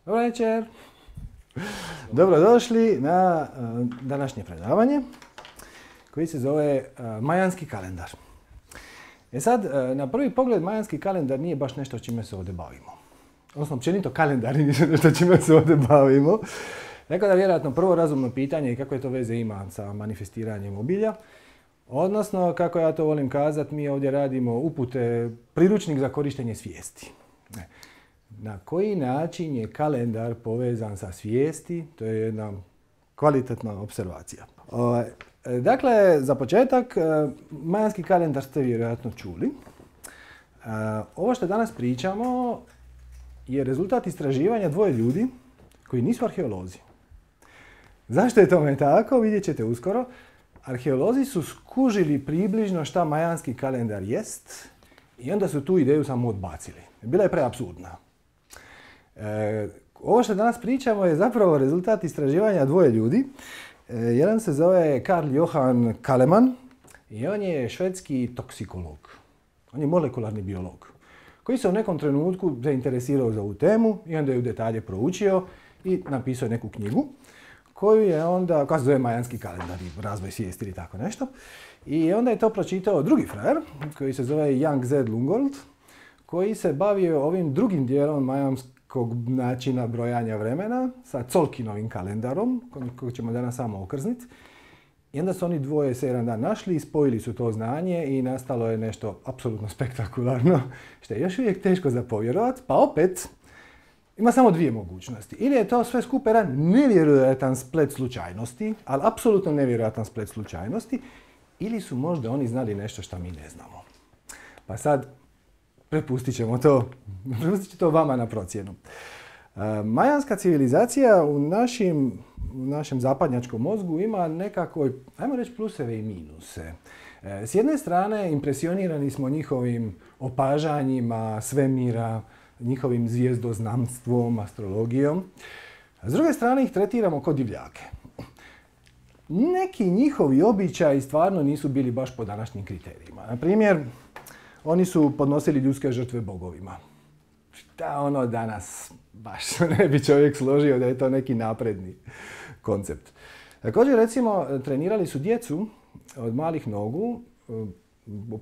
Dobro večer. Dobrodošli na današnje predavanje koji se zove Majanski kalendar. Sad, na prvi pogled Majanski kalendar nije baš nešto čime se ovdje bavimo. Odnosno, općenito kalendari nisu nešto čime se ovdje bavimo. Tako da vjerojatno prvo razumno pitanje je kako je to veze ima sa manifestiranjem obilja. Odnosno, kako ja to volim kazati, mi ovdje radimo upute, priručnik za korištenje svijesti. Na koji način je kalendar povezan sa svijesti, to je jedna kvalitetna observacija. Dakle, za početak, Majanski kalendar ste vjerojatno čuli. Ovo što danas pričamo je rezultat istraživanja dvoje ljudi koji nisu arheolozi. Zašto je tome tako, vidjet ćete uskoro. Arheolozi su skužili približno šta Majanski kalendar jest i onda su tu ideju samo odbacili. Bila je preapsurdna. Ovo što danas pričamo je zapravo rezultat istraživanja dvoje ljudi. Jedan se zove Carl Johan Kaleman i on je švedski toksikolog. On je molekularni biolog koji se u nekom trenutku zainteresirao za ovu temu i onda je u detalje proučio i napisao neku knjigu koju je onda, koja se zove Majanski kalendar i razvoj svijesti ili tako nešto. I onda je to pročitao drugi frajer koji se zove Yang Z. Lungold koji se bavio ovim drugim dijelom majanskog načina brojanja vremena sa Colkinovim kalendarom, kojeg ćemo danas samo okrzniti. I onda su oni dvoje se jedan dan našli i spojili su to znanje i nastalo je nešto apsolutno spektakularno, što je još uvijek teško za povjerovat, pa opet ima samo dvije mogućnosti. Ili je to sve skupa jedan nevjerojatan splet slučajnosti, ali apsolutno nevjerojatan splet slučajnosti, ili su možda oni znali nešto što mi ne znamo. Pa sad, prepustit ćemo to vama na procjenu. Majanska civilizacija u našem zapadnjačkom mozgu ima nekako, ajmo reći, pluseve i minuse. S jedne strane, impresionirani smo njihovim opažanjima svemira, njihovim zvijezdoznamstvom, astrologijom. A s druge strane ih tretiramo kao divljake. Neki njihovi običaji stvarno nisu bili baš po današnjim kriterijima. Na primjer, oni su podnosili ljudske žrtve bogovima. Šta ono danas baš ne bi čovjek složio da je to neki napredni koncept. Također, recimo, trenirali su djecu od malih nogu,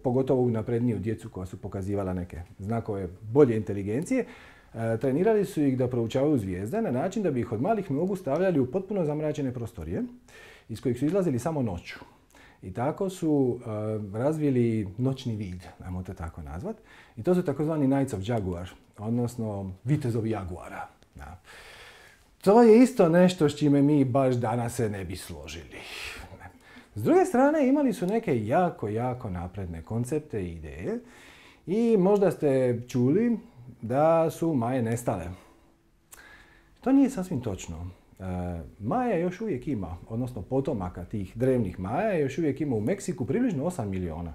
pogotovo u napredniju djecu koja su pokazivala neke znakove bolje inteligencije. Trenirali su ih da proučavaju zvijezde na način da bi ih od malih nogu stavljali u potpuno zamračene prostorije iz kojih su izlazili samo noću. I tako su razvili noćni vid, ajmo to tako nazvat. I to su takozvani Knights of Jaguar, odnosno vitezovi jaguara. Da. To je isto nešto s čime mi baš danas se ne bi složili. S druge strane, imali su neke jako napredne koncepte i ideje i možda ste čuli da su Maje nestale. To nije sasvim točno. Maja još uvijek ima, odnosno potomaka tih drevnih Maja još uvijek ima u Meksiku približno 8 miliona.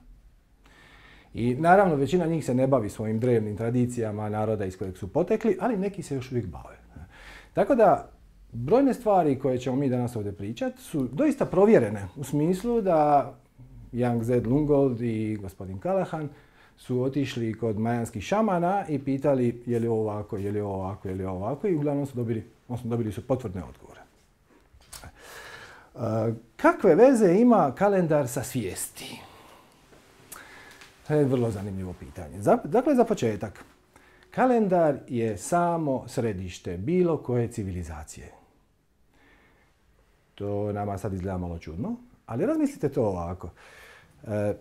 I naravno većina njih se ne bavi svojim drevnim tradicijama naroda iz kojeg su potekli, ali neki se još uvijek bave. Tako da brojne stvari koje ćemo mi danas ovdje pričati su doista provjerene u smislu da Yang Z. Lungold i gospodin Callahan su otišli kod majanskih šamana i pitali je li ovo ovako, je li ovo ovako, je li ovo ovako i uglavnom su dobili su potvrdne odgovore. Kakve veze ima kalendar sa svijesti? To je vrlo zanimljivo pitanje. Dakle, za početak, kalendar je samo središte bilo koje civilizacije. To nama sad izgleda malo čudno, ali razmislite to ovako.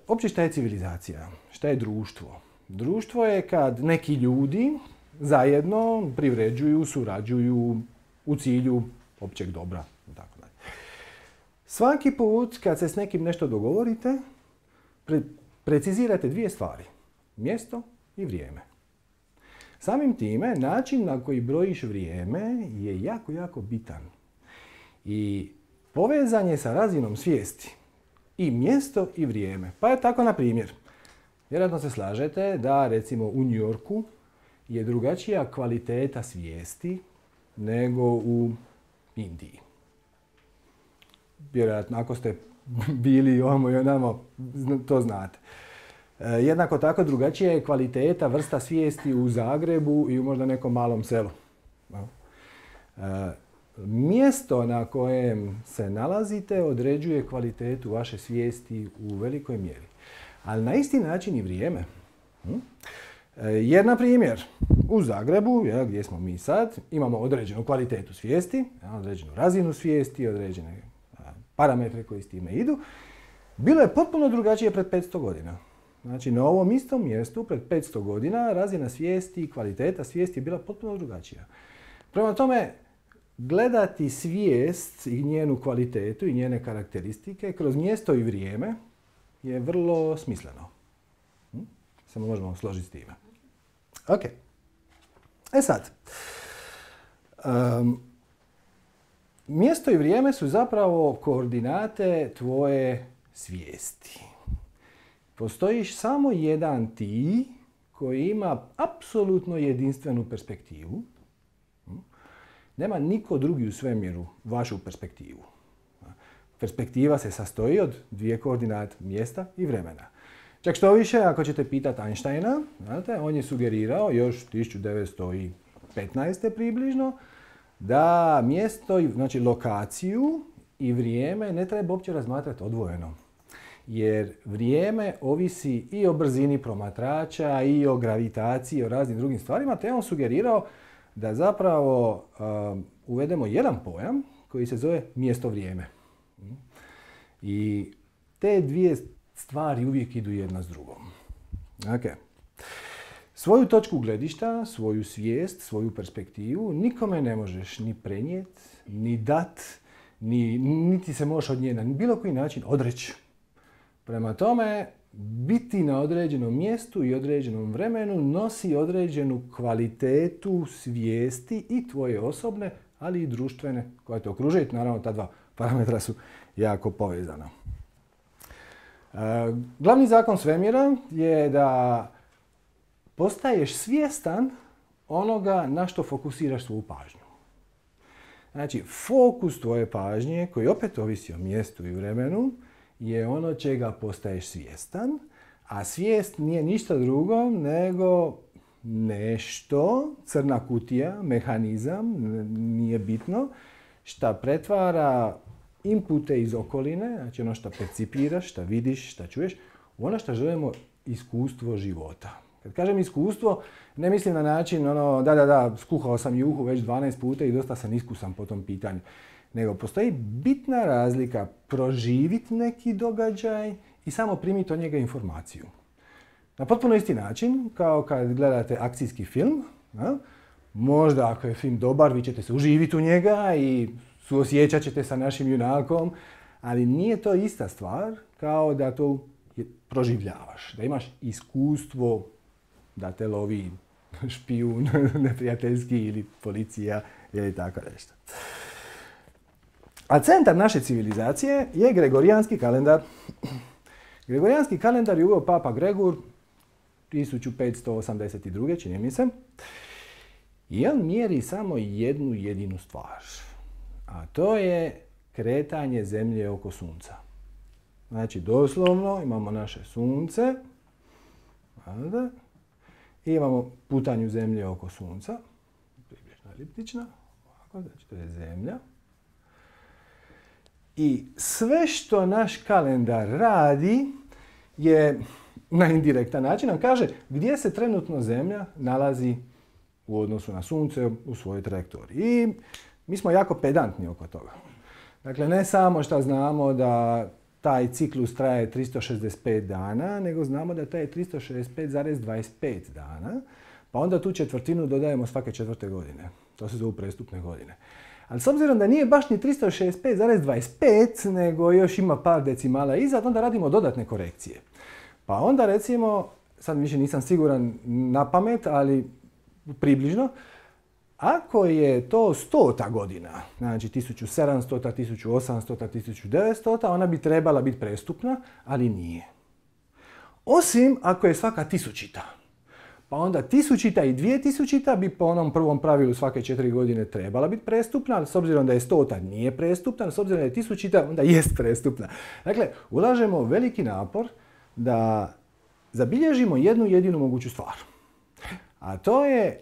Opće šta je civilizacija? Šta je društvo? Društvo je kad neki ljudi zajedno privređuju, surađuju u cilju općeg dobra. Svaki put kad se s nekim nešto dogovorite, precizirate dvije stvari. Mjesto i vrijeme. Samim time, način na koji brojiš vrijeme je jako bitan. I povezan je sa razinom svijesti. I mjesto i vrijeme. Pa je tako, na primjer, vjerojatno se slažete da recimo u New Yorku je drugačija kvaliteta svijesti nego u Indiji. Vjerojatno, ako ste bili i ovamo i onamo, to znate. Jednako tako drugačija je kvaliteta, vrsta svijesti u Zagrebu i u možda nekom malom selu. Mjesto na kojem se nalazite određuje kvalitetu vaše svijesti u velikoj mjeri. Ali na isti način i vrijeme. Jer, na primjer, u Zagrebu, gdje smo mi sad, imamo određenu kvalitetu svijesti, određenu razinu svijesti, određene parametre koji s time idu. Bilo je potpuno drugačije pred 500 godina. Znači, na ovom istom mjestu, pred 500 godina, razina svijesti i kvaliteta svijesti je bila potpuno drugačija. Prema tome, gledati svijest i njenu kvalitetu i njene karakteristike kroz mjesto i vrijeme je vrlo smisleno. Samo možemo složiti s time. Ok. E sad. Mjesto i vrijeme su zapravo koordinate tvoje svijesti. Postoji samo jedan ti koji ima apsolutno jedinstvenu perspektivu. Nema niko drugi u svemiru vašu perspektivu. Perspektiva se sastoji od dvije koordinate, mjesta i vremena. Čak što više, ako ćete pitati Einsteina, znate, on je sugerirao još 1915. približno da mjesto, znači lokaciju i vrijeme ne treba uopće razmatrati odvojeno. Jer vrijeme ovisi i o brzini promatrača, i o gravitaciji, i o raznim drugim stvarima, te je on sugerirao da zapravo uvedemo jedan pojam koji se zove mjesto-vrijeme. I te dvije stvari uvijek idu jedna s drugom. Okay. Svoju točku gledišta, svoju svijest, svoju perspektivu nikome ne možeš ni prenijeti, ni dat, niti se možeš od nje na bilo koji način odreći. Prema tome, biti na određenom mjestu i određenom vremenu nosi određenu kvalitetu svijesti i tvoje osobne, ali i društvene koje te okružuje. Naravno, ta dva parametra su jako povezana. Glavni zakon svemira je da postaješ svjestan onoga na što fokusiraš svoju pažnju. Znači, fokus tvoje pažnje, koji opet ovisi o mjestu i vremenu, je ono čega postaješ svjestan, a svijest nije ništa drugo nego nešto, crna kutija, mehanizam, nije bitno, šta pretvara inpute iz okoline, znači ono što percipiraš, što vidiš, što čuješ, u ono što želimo iskustvo života. Kad kažem iskustvo, ne mislim na način skuhao sam juhu već 12 puta i dosta sam iskusan po tom pitanju. Nego postoji bitna razlika proživiti neki događaj i samo primiti od njega informaciju. Na potpuno isti način, kao kad gledate akcijski film, možda ako je film dobar, vi ćete se uživiti u njega i suosjećat ćete sa našim junakom, ali nije to ista stvar kao da to proživljavaš, da imaš iskustvo da te lovi špijun neprijateljski ili policija ili tako nešto. A centar naše civilizacije je Gregorijanski kalendar. Gregorijanski kalendar je uveo Papa Gregor 1582. čini mi se. I on mjeri samo jednu jedinu stvar. A to je kretanje Zemlje oko Sunca. Znači, doslovno imamo naše Sunce. I imamo putanju Zemlje oko Sunca. Približno eliptična. Znači, to je Zemlja. I sve što naš kalendar radi je na indirektan način nam kaže gdje se trenutno Zemlja nalazi u odnosu na Sunce u svojoj trajektoriji. I mi smo jako pedantni oko toga. Dakle, ne samo što znamo da taj ciklus traje 365 dana, nego znamo da traje 365,25 dana, pa onda tu četvrtinu dodajemo svake 4. godine. To se zovu prestupne godine. Ali s obzirom da nije baš ni 365,25, nego još ima par decimala iza, onda radimo dodatne korekcije. Pa onda recimo, sad više nisam siguran na pamet, ali približno, ako je to 100. godina, znači 1700, 1800, 1900, ona bi trebala biti prestupna, ali nije. Osim ako je svaka 1000. Pa onda 1000 i 2000 bi po onom prvom pravilu svake 4 godine trebala biti prestupna, ali s obzirom da je 100 nije prestupna, s obzirom da je 1000 onda jest prestupna. Dakle, ulažemo veliki napor da zabilježimo jednu jedinu moguću stvar. A to je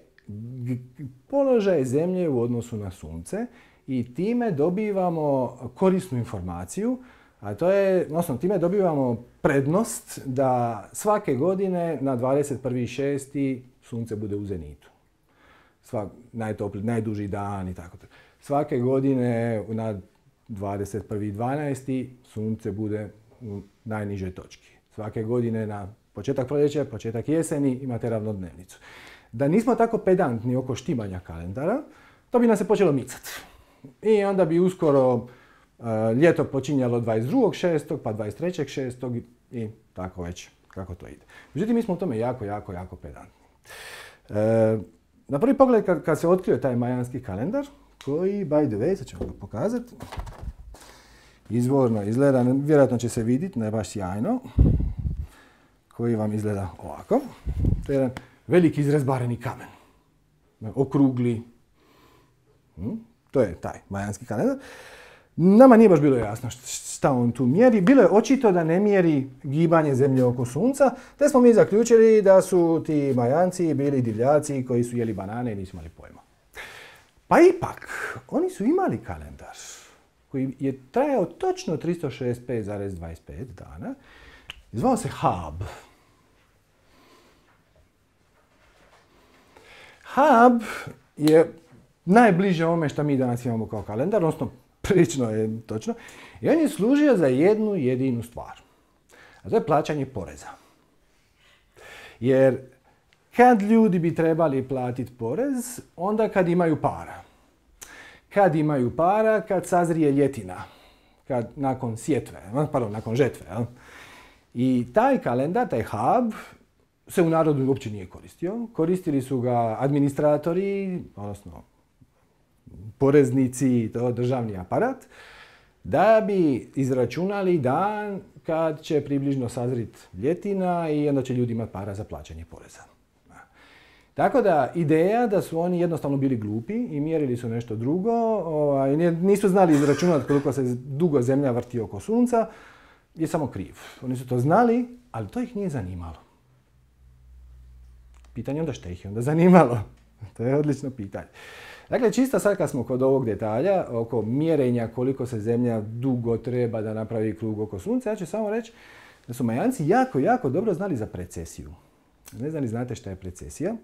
položaj Zemlje u odnosu na Sunce i time dobivamo korisnu informaciju, a to je, odnosno time dobivamo prednost da svake godine na 21.6. Sunce bude u zenitu. Najduži dan i tako. Svake godine na 21.12. Sunce bude u najnižoj točki. Svake godine na početak proljeća, početak jeseni imate ravnodnevnicu. Da nismo tako pedantni oko štimanja kalendara, to bi nas se počelo micati. I onda bi uskoro ljeto počinjalo 22.6. pa 23.6. i tako već kako to ide. Međutim, mi smo u tome jako pedantni. Na prvi pogled kad se otkrio taj majanski kalendar, koji, by the way, sad ćemo ga pokazati, izvorno izgleda, vjerojatno će se vidjeti, ne baš sjajno, koji vam izgleda ovako. To je jedan veliki izrezbareni kamen, okrugli. To je taj majanski kalendar. Nama nije baš bilo jasno šta on tu mjeri. Bilo je očito da ne mjeri gibanje Zemlje oko Sunca, te smo mi zaključili da su ti Majanci bili divljaci koji su jeli banane i nisu imali pojma. Pa ipak, oni su imali kalendar koji je trajao točno 365,25 dana. Zvao se Hab. Hab je najbliže ovome što mi danas imamo kao kalendar, odnosno prilično je točno. I on je služio za jednu jedinu stvar. A to je plaćanje poreza. Jer kad ljudi bi trebali platiti porez, onda kad imaju para. Kad imaju para, kad sazrije ljetina. Nakon sjetve, nakon žetve. I taj kalendar, taj Hab, se u narodu uopće nije koristio. Koristili su ga administratori, odnosno poreznici, to državni aparat, da bi izračunali dan kad će približno sazrit ljetina i onda će ljudi imati para za plaćanje poreza. Tako da ideja da su oni jednostavno bili glupi i mjerili su nešto drugo, nisu znali izračunati koliko se dugo Zemlja vrti oko Sunca, je samo kriv. Oni su to znali, ali to ih nije zanimalo. Pitanje onda šta ih je onda zanimalo? To je odlično pitanje. Dakle, čisto sad kad smo kod ovog detalja, oko mjerenja koliko se Zemlja dugo treba da napravi krug oko Sunca, ja ću samo reći da su Majanci jako dobro znali za precesiju. Ne znam li znate šta je precesija,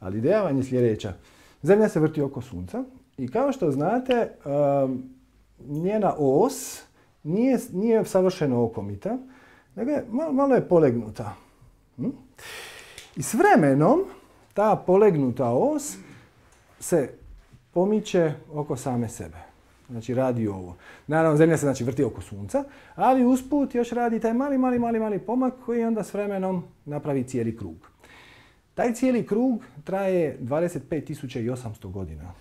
ali ideja vam je sljedeća. Zemlja se vrti oko Sunca i kao što znate, njena os nije savršeno okomita, nego malo je polegnuta. I s vremenom ta polegnuta os se pomiče oko same sebe. Znači radi ovo. Naravno, Zemlja se znači vrti oko Sunca, ali usput još radi taj mali pomak koji onda s vremenom napravi cijeli krug. Taj cijeli krug traje 25.800 godina.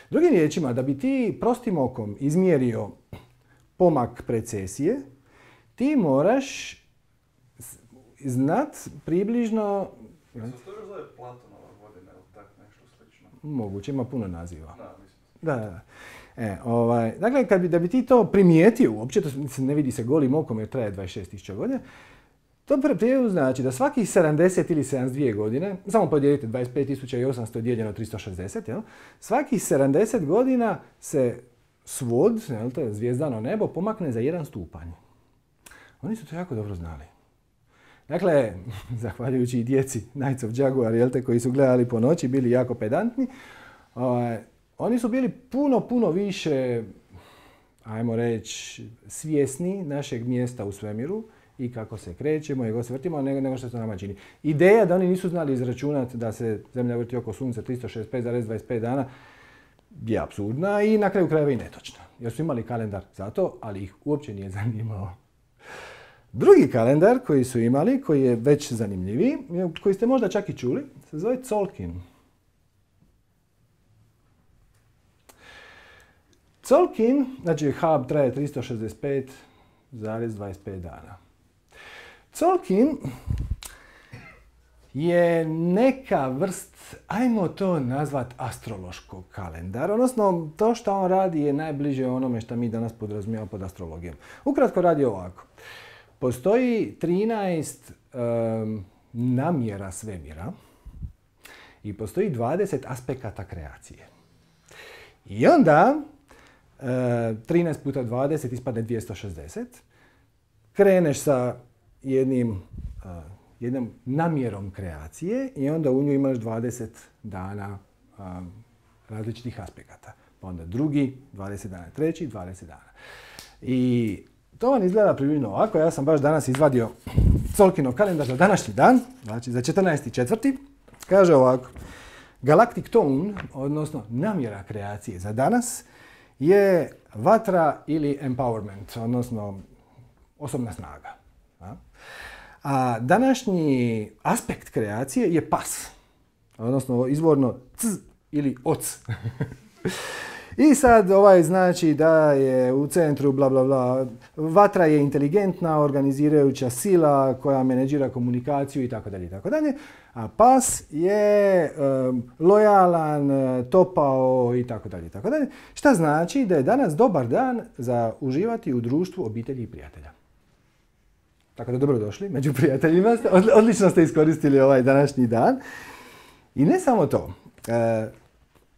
Drugim riječima, da bi ti prostim okom izmjerio pomak precesije, ti moraš znat približno... Se to još zove Platonova godina ili tak nešto slično? Moguće, ima puno naziva. Da, mislim. Da. Dakle, da bi ti to primijetio, uopće to ne vidi se golim okom jer traje 26.000 godina, to prijevu znači da svakih 70 ili 72 godine, samo podijelite 25.800 dijeljeno 360, svakih 70 godina se svod, to je zvijezdano nebo, pomakne za 1 stupanj. Oni su to jako dobro znali. Dakle, zahvaljujući i djeci Knights of Jaguar, koji su gledali po noći, bili jako pedantni, oni su bili puno više, ajmo reći, svjesni našeg mjesta u svemiru i kako se krećemo i kako se vrtimo, nego što se nama čini. Ideja da oni nisu znali izračunati da se Zemlja vrti oko Sunca 365,25 dana je apsurdna i na kraju krajeva i netočna. Jer su imali kalendar za to, ali ih uopće nije zanimalo. Drugi kalendar koji su imali, koji je već zanimljiviji, koji ste možda čak i čuli, se zove Tzolk'in. Tzolk'in, znači Hab traje 365,25 dana. Tzolk'in je neka vrst, ajmo to nazvat astrološkog kalendara, odnosno to što on radi je najbliže onome što mi danas podrazumijevamo pod astrologijom. Ukratko radi ovako. Postoji 13 namjera svemira i postoji 20 aspekata kreacije. I onda 13 puta 20 ispadne 260. Kreneš sa jednom namjerom kreacije i onda u nju imaš 20 dana različitih aspekata. Pa onda drugi, 20 dana, treći, 20 dana. I to vam izgleda približno ovako. Ja sam baš danas izvadio Colkinov kalendar za današnji dan, znači za 14.4. Kaže ovako. Galactic tone, odnosno namjera kreacije za danas, je vatra ili empowerment, odnosno osobna snaga. A današnji aspekt kreacije je pas, odnosno izvorno c ili oc. I sad znači da je u centru bla bla bla, vatra je inteligentna, organizirajuća sila koja menedžira komunikaciju itd. A pas je lojalan, topao itd. Šta znači da je danas dobar dan za uživati u društvu obitelji i prijatelja. Tako da dobrodošli među prijateljima, odlično ste iskoristili ovaj današnji dan. I ne samo to.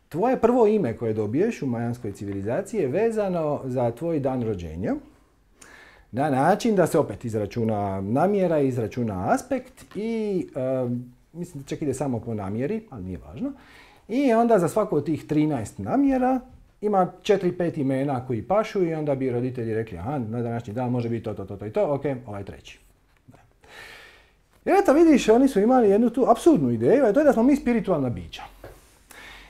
Tvoje prvo ime koje dobiješ u majanskoj civilizaciji je vezano za tvoj dan rođenja. Na način da se opet izračuna namjera, izračuna aspekt i mislim da čak ide samo po namjeri, ali nije važno. I onda za svaku od tih 13 namjera ima 4-5 imena koji pašu i onda bi roditelji rekli aha, na današnji dan može biti to i to, ok, ovaj treći. I eto vidiš, oni su imali jednu tu apsurdnu ideju, a to je da smo mi spiritualna bića.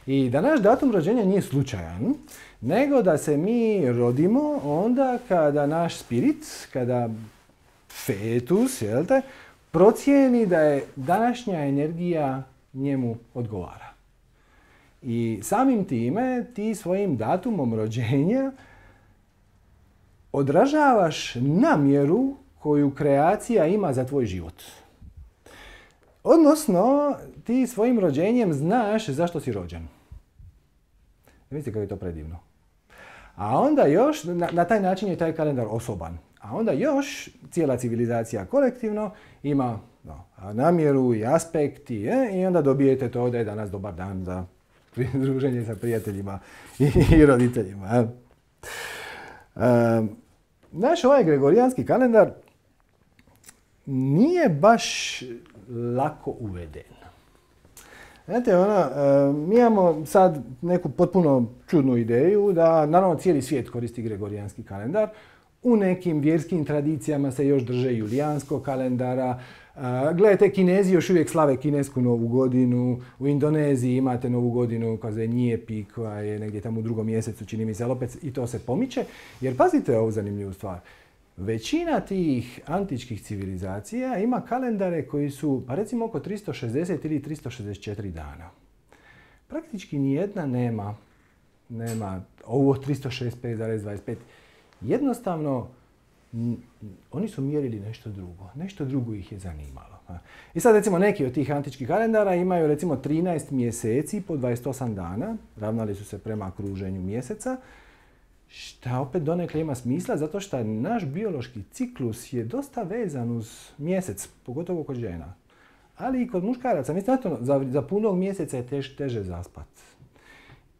I da naš datum rođenja nije slučajan, nego da se mi rodimo onda kada naš spirit, kada fetus, procijeni da je današnja energija njemu odgovara. I samim time ti svojim datumom rođenja odražavaš namjeru koju kreacija ima za tvoj život. Odnosno, ti svojim rođenjem znaš zašto si rođen. Vidite kako je to predivno. A onda još, na taj način je taj kalendar osoban. A onda još cijela civilizacija kolektivno ima namjeru i aspekt i onda dobijete to da je danas dobar dan za druženje sa prijateljima i roditeljima. Naš ovaj gregorijanski kalendar nije baš lako uveden. Znate, mi imamo sad neku potpuno čudnu ideju da, naravno, cijeli svijet koristi gregorijanski kalendar. U nekim vjerskim tradicijama se još drže julijanskog kalendara. Gledajte, Kinezi još uvijek slave kinesku novu godinu. U Indoneziji imate novu godinu koja je Nyepi, koja je negdje tamo u 2. mjesecu, čini mi se, ali opet i to se pomiče. Jer pazite ovu zanimljivu stvar. Većina tih antičkih civilizacija ima kalendare koji su, pa recimo, oko 360 ili 364 dana. Praktički nijedna nema ovo 365,25. Jednostavno, oni su mjerili nešto drugo. Nešto drugo ih je zanimalo. I sad recimo neki od tih antičkih kalendara imaju recimo 13 mjeseci po 28 dana. Ravnali su se prema kruženju mjeseca. Šta opet donekle ima smisla, zato što naš biološki ciklus je dosta vezan uz mjesec, pogotovo kod žena. Ali i kod muškaraca. Mislim, za punog mjeseca je teže zaspat.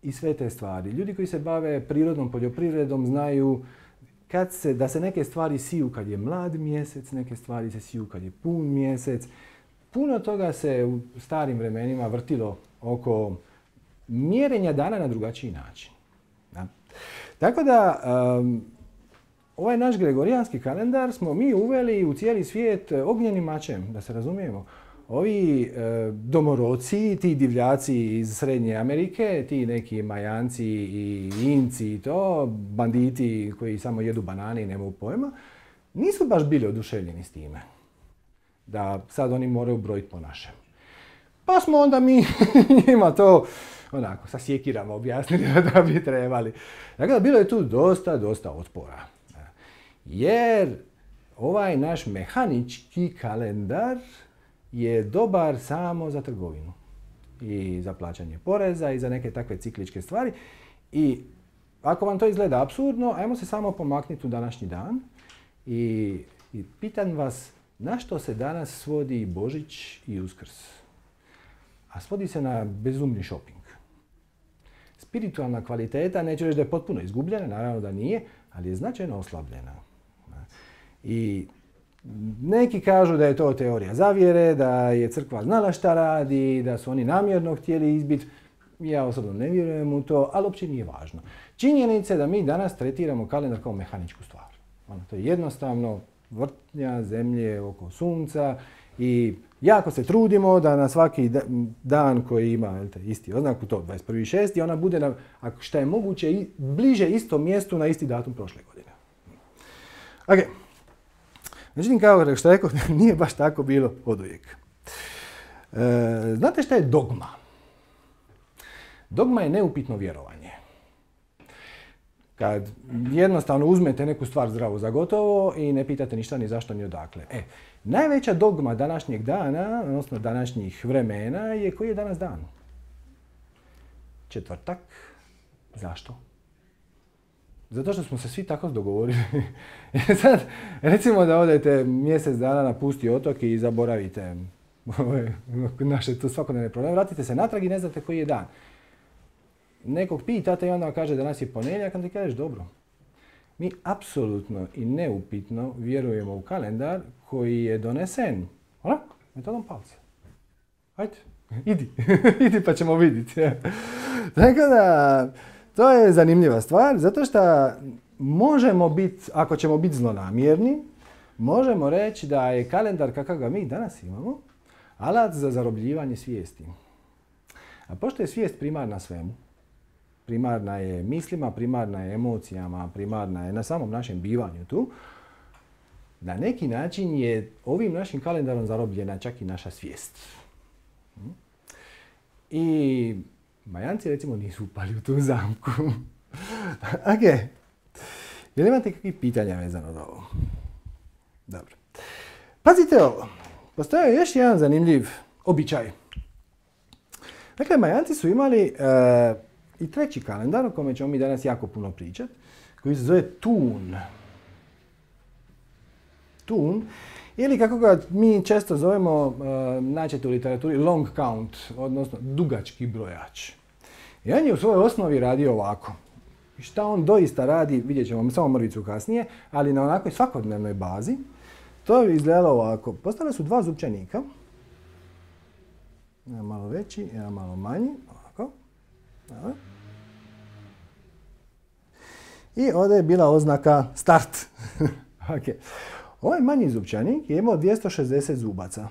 I sve te stvari. Ljudi koji se bave prirodnom poljoprivredom znaju da se neke stvari siju kad je mlad mjesec, neke stvari se siju kad je pun mjesec. Puno toga se u starim vremenima vrtilo oko mjerenja dana na drugačiji način. Da? Tako da, ovaj naš gregorijanski kalendar smo mi uveli u cijeli svijet ognjenim mačem, da se razumijemo. Ovi domoroci, ti divljaci iz Srednje Amerike, ti neki Majanci i Inci i to, banditi koji samo jedu banane i nemaju pojma, nisu baš bili oduševljeni s time. Da sad oni moraju brojiti po našem. Pa smo onda mi njima to onako sa sjekirama objasnili da bi trebali. Dakle, bilo je tu dosta otpora. Jer ovaj naš mehanički kalendar je dobar samo za trgovinu i za plaćanje poreza i za neke takve cikličke stvari. I ako vam to izgleda apsurdno, ajmo se samo pomaknuti u današnji dan i pitam vas na što se danas svodi Božić i Uskrs. A svodi se na bezumni shopping. Spiritualna kvaliteta, neću reći da je potpuno izgubljena, naravno da nije, ali je značajno oslabljena. I neki kažu da je to teorija zavjere, da je crkva znala šta radi, da su oni namjerno htjeli izbiti. Ja osobno ne vjerujem u to, ali uopće nije važno. Činjenica je da mi danas tretiramo kalendar kao mehaničku stvar. To je jednostavno vrtnja zemlje oko sunca i jako se trudimo da na svaki dan koji ima isti oznaku, to 21.6. ona bude na, ako šta je moguće, bliže istom mjestu na isti datum prošle godine. Ok. Međutim, kao što rekao, nije baš tako bilo oduvijek. Znate šta je dogma? Dogma je neupitno vjerovanje. Kad jednostavno uzmete neku stvar zdravo za gotovo i ne pitate ništa ni zašto ni odakle. Najveća dogma današnjeg dana, odnosno današnjih vremena, je koji je danas dan? Četvrtak. Zašto? Zato što smo se svi tako dogovorili. Sad, recimo da odete mjesec dana na pusti otok i zaboravite naše tu svakodnevne probleme, vratite se natrag i ne znate koji je dan. Nekog pitate i onda kaže da danas je ponedjeljak, onda ti kažeš dobro. Mi apsolutno i neupitno vjerujemo u kalendar koji je donesen metodom palca. Hajde, idi, idi pa ćemo vidjeti. Tako da, to je zanimljiva stvar, zato što možemo biti, ako ćemo biti zlonamjerni, možemo reći da je kalendar kakav ga mi danas imamo, alat za zarobljivanje svijesti. A pošto je svijest primarna svemu, primarna je mislima, primarna je emocijama, primarna je na samom našem bivanju tu, na neki način je ovim našim kalendarom zarobljena čak i naša svijest. I Majanci recimo nisu upali u tu zamku. Ok. Jel imate kakvih pitanja vezano za ovo? Dobro. Pazite ovo. Postoji još jedan zanimljiv običaj. Dakle, Majanci su imali i treći kalendar, o kome ćemo mi danas jako puno pričati, koji se zove Tun. Tun, ili kako ga mi često zovemo, naćete u literaturi, long count, odnosno dugački brojač. I on je u svojoj osnovi radio ovako. I šta on doista radi, vidjet ćemo samo mrvicu kasnije, ali na onakoj svakodnevnoj bazi, to je izgledalo ovako. Postavili su dva zupčanika, jedan malo veći, jedan malo manji, ovako. I ovdje je bila oznaka start. Okay. Ovaj manji zupčanik je imao 260 zubaca.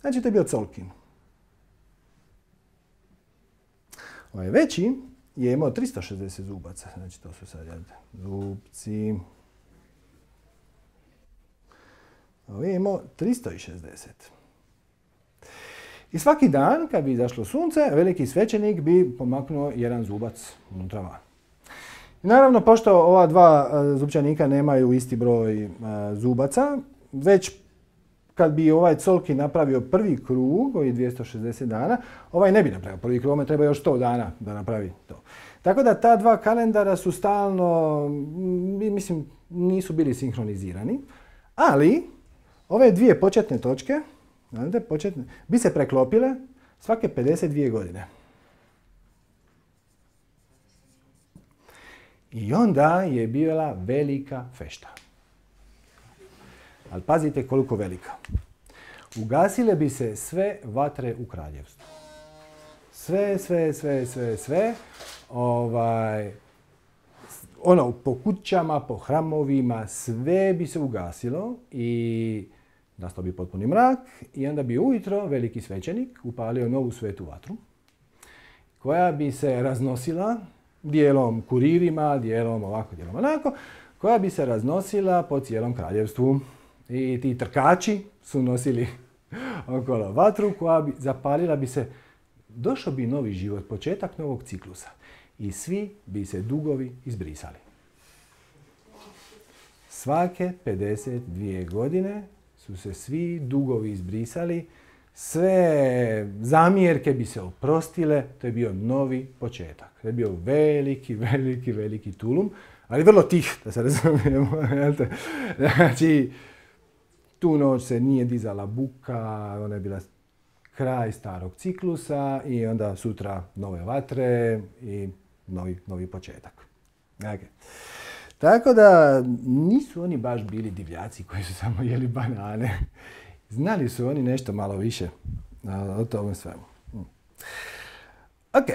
Znači to je bio colkin. Ovaj veći je imao 360 zubaca. Znači to su sad zupci. Ovaj je imao 360. I svaki dan, kad bi izašlo sunce, veliki svećenik bi pomaknuo jedan zubac unutra van. I naravno, pošto ova dva zupčanika nemaju isti broj zubaca, već kad bi ovaj colki napravio prvi krug, koji je 260 dana, ovaj ne bi napravio prvi krug, ovome treba još 100 dana da napravi to. Tako da ta dva kalendara su stalno, mislim, nisu bili sinhronizirani, ali ove dvije početne točke, bi se preklopile svake 52 godine. I onda je bila velika fešta. Ali pazite koliko velika. Ugasile bi se sve vatre u kraljevstvu. Sve. Po kućama, po hramovima, sve bi se ugasilo i nastao bi potpuni mrak i onda bi ujutro veliki svećenik upalio novu svetu vatru koja bi se raznosila dijelom kuririma, dijelom ovako, dijelom onako, koja bi se raznosila po cijelom kraljevstvu. I ti trkači su nosili okolo vatru koja bi zapalila bi se, došao bi novi život, početak novog ciklusa. I svi bi se dugovi izbrisali. Svake 52 godine su se svi dugovi izbrisali, sve zamjerke bi se oprostile, to je bio novi početak. To je bio veliki, veliki, veliki tulum, ali vrlo tih, da se razumijemo. Znači, tu noć se nije dizala buka, ona je bila kraj starog ciklusa i onda sutra nove vatre i novi početak. Okay. Tako da nisu oni baš bili divljaci koji su samo jeli banane. Znali su oni nešto malo više o tome svemu. Ok.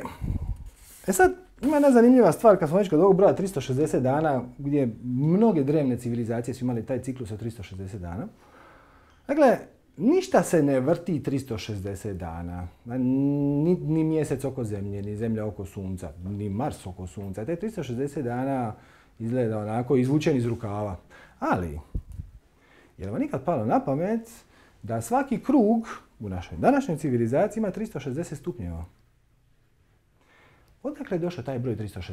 Sad, ima jedna zanimljiva stvar kad smo već kod ovog broja 360 dana, gdje mnoge drevne civilizacije su imali taj ciklus od 360 dana. Dakle, ništa se ne vrti 360 dana. Ni mjesec oko zemlje, ni zemlja oko sunca, ni Mars oko sunca. Te 360 dana izgleda onako izvučen iz rukava. Ali, je li vam nikad palo na pamet da svaki krug u našoj današnjoj civilizaciji ima 360 stupnjeva? Odakle je došao taj broj 360?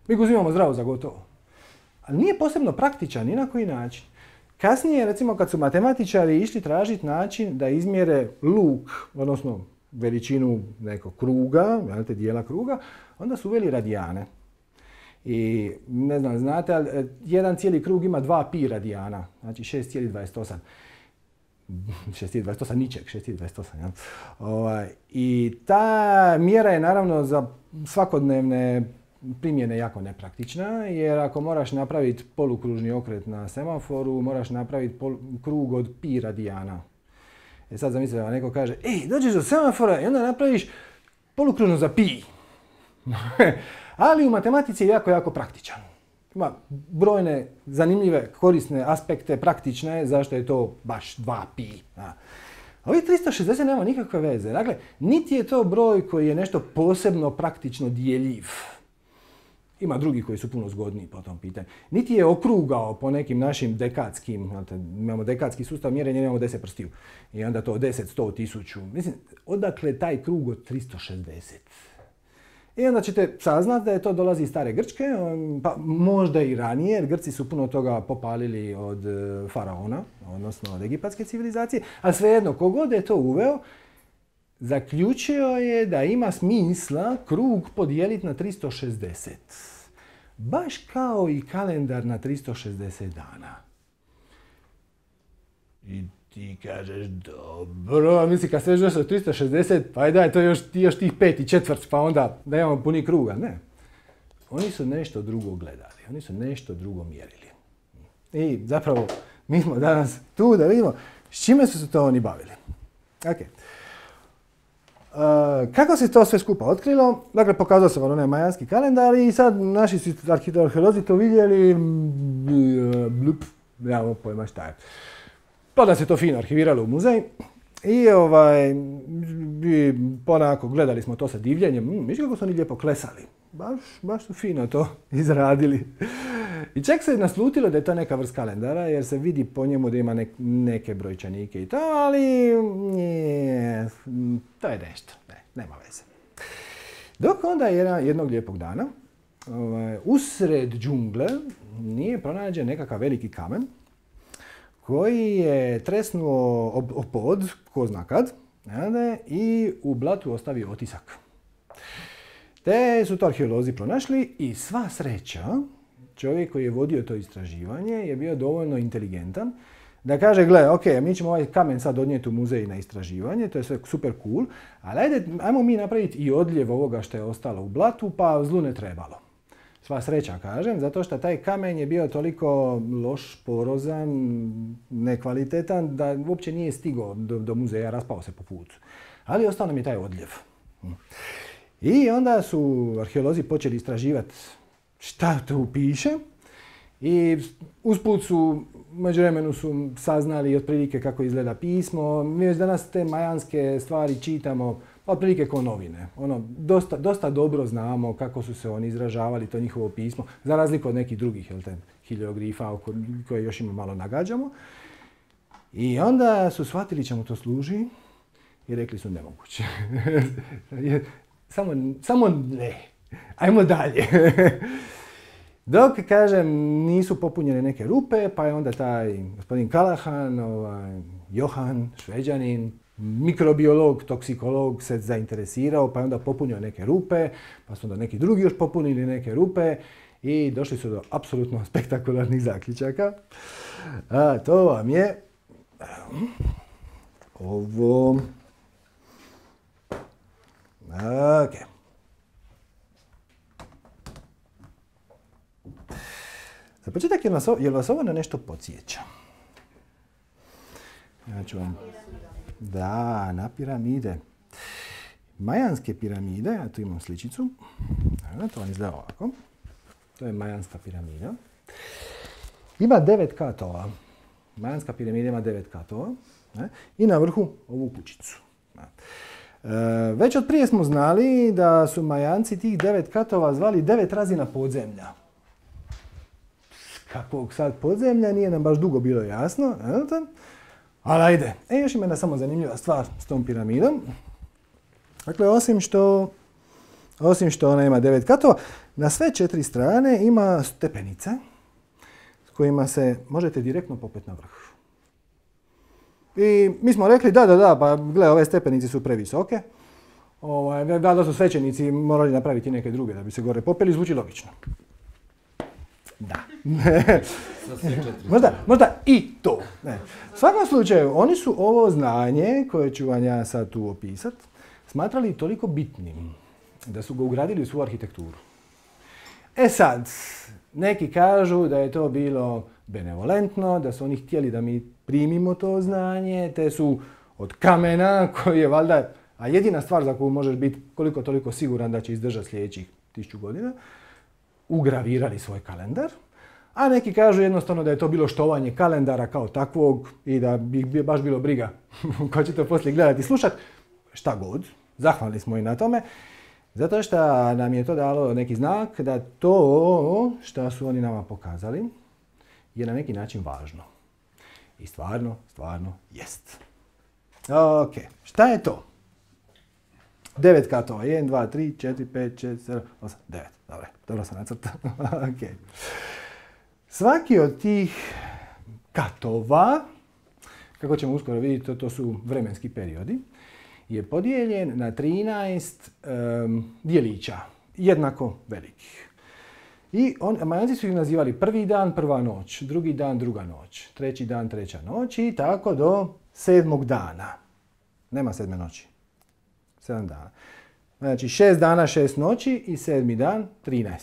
Mi ga uzimamo zdravo za gotovo. Ali nije posebno praktičan ni na koji način. Kasnije, recimo, kad su matematičari išli tražiti način da izmjere luk, odnosno veličinu nekog kruga, dijela kruga, onda su uveli radijane. I ne znam, znate, ali jedan cijeli krug ima 2 pi radijana, znači 6,28. 6,28 ničeg, 6,28. I ta mjera je naravno za svakodnevne primjene jako nepraktična, jer ako moraš napraviti polukružni okret na semaforu, moraš napraviti krug od pi radijana. Sad zamislite da vam neko kaže, dođeš do semafora i onda napraviš polukružno za pi. Ali u matematici je jako, jako praktičan. Ima brojne zanimljive, korisne aspekte, praktične, zašto je to baš 2 pi. Ovih 360 nema nikakve veze. Dakle, niti je to broj koji je nešto posebno praktično dijeljiv. Ima drugi koji su puno zgodniji po tom pitanju. Niti je okrugao po nekim našim dekadskim, imamo dekadski sustav mjerenja, imamo 10 prstiju. I onda to 10, 100, 1000. Mislim, odakle taj krug od 360? I onda ćete saznati da je to dolazi iz stare Grčke, pa možda i ranije, jer Grci su puno toga popalili od faraona, odnosno od egipatske civilizacije, ali svejedno, kogod je to uveo, zaključio je da ima smisla krug podijeliti na 360. Baš kao i kalendar na 360 dana. I ti kažeš, dobro, misli kad sve došlo 360, pa daj, to je još tih 5 i četvrt, pa onda da imamo puni kruga. Ne. Oni su nešto drugo gledali, oni su nešto drugo mjerili. I zapravo, mi smo danas tu da vidimo s čime su se to oni bavili. Okay. Kako se to sve skupa otkrilo? Dakle, pokazao se vam onaj majanski kalendar i sad naši su arheolozi to vidjeli, nemamo pojma šta je. Pa da se to fino arhiviralo u muzej i ponako gledali smo to sa divljenjem. Viš kako su oni lijepo klesali. Baš su fino to izradili. I čak se naslutilo da je to neka vrst kalendara jer se vidi po njemu da ima neke brojčanike i to, ali to je nešto. Nema veze. Dok onda jednog lijepog dana usred džungle nije pronađen nekakav veliki kamen koji je tresnuo o pod, ko zna kad, i u blatu ostavio otisak. Te su to arheolozi pronašli i sva sreća, čovjek koji je vodio to istraživanje je bio dovoljno inteligentan da kaže, gle, ok, mi ćemo ovaj kamen sad odnijeti u muzej na istraživanje, to je sve super cool, ali ajmo mi napraviti i odljev ovoga što je ostalo u blatu, pa zlu ne trebalo. Sva sreća, kažem, zato što taj kamen je bio toliko loš, porozan, nekvalitetan, da uopće nije stigao do muzeja, raspao se po putu. Ali ostao nam je taj odljev. I onda su arheolozi počeli istraživati šta tu piše i usput su, međuvremenu su saznali otprilike kako izgleda pismo. Mi već danas te majanske stvari čitamo otprilike kao novine. Dosta dobro znamo kako su se oni izražavali, to njihovo pismo, za razliku od nekih drugih hilioglifa koje još ima malo nagađamo. I onda su shvatili čemu to služi i rekli su nemoguće. Samo ne. Ajmo dalje. Dok, kažem, nisu popunjene neke rupe, pa je onda taj gospodin Callahan, Johan, Šveđanin, mikrobiolog, toksikolog se zainteresirao, pa je onda popunio neke rupe, pa su onda neki drugi još popunili neke rupe i došli su do apsolutno spektakularnih zaključaka. A to vam je ovo. Ok. Za početak, jel vas ovo na nešto podsjeća? Ja ću vam... Da, na piramide. Majanske piramide, ja tu imam sličicu. To vam izgleda ovako. To je majanska piramida. Ima 9 katova. Majanska piramida ima 9 katova. I na vrhu ovu kućicu. Već od prije smo znali da su Majanci tih 9 katova zvali 9 razina podzemlja. Kakvog sad podzemlja nije nam baš dugo bilo jasno. Ali ajde. Još ima jedna samo zanimljiva stvar s tom piramidom. Dakle, osim što ona ima 9 katova, na sve 4 strane ima stepenice s kojima se možete direktno popeti na vrh. I mi smo rekli da, pa gle, ove stepenice su previsoke. Da su svećenici morali napraviti neke druge da bi se gore popeli, zvuči logično. Da. možda i to. Ne. U svakom slučaju, oni su ovo znanje, koje ću vam ja sad tu opisat, smatrali toliko bitnim da su ga ugradili u svoju arhitekturu. E sad, neki kažu da je to bilo benevolentno, da su oni htjeli da mi primimo to znanje, te su od kamena, koji je valjda, a jedina stvar za koju možeš biti koliko toliko siguran da će izdržati sljedećih 1000 godina, ugravirali svoj kalendar, a neki kažu jednostavno da je to bilo štovanje kalendara kao takvog i da bi baš bilo briga ko će to poslije gledati i slušati. Šta god, zahvalni smo i na tome, zato što nam je to dalo neki znak da to što su oni nama pokazali je na neki način važno. I stvarno jest. Ok, šta je to? 9 katova. 1, 2, 3, 4, 5, 6, 7, 8, 9. Dobro sam nacrtao. Ok. Svaki od tih katova, kako ćemo uskoro vidjeti, to su vremenski periodi, je podijeljen na 13 dijelića, jednako velikih. I Majanci su ih nazivali prvi dan, prva noć, drugi dan, druga noć, treći dan, treća noć i tako do 7. dana. Nema 7. noći. 7 dana. Znači 6 dana, 6 noći i 7. dan, 13.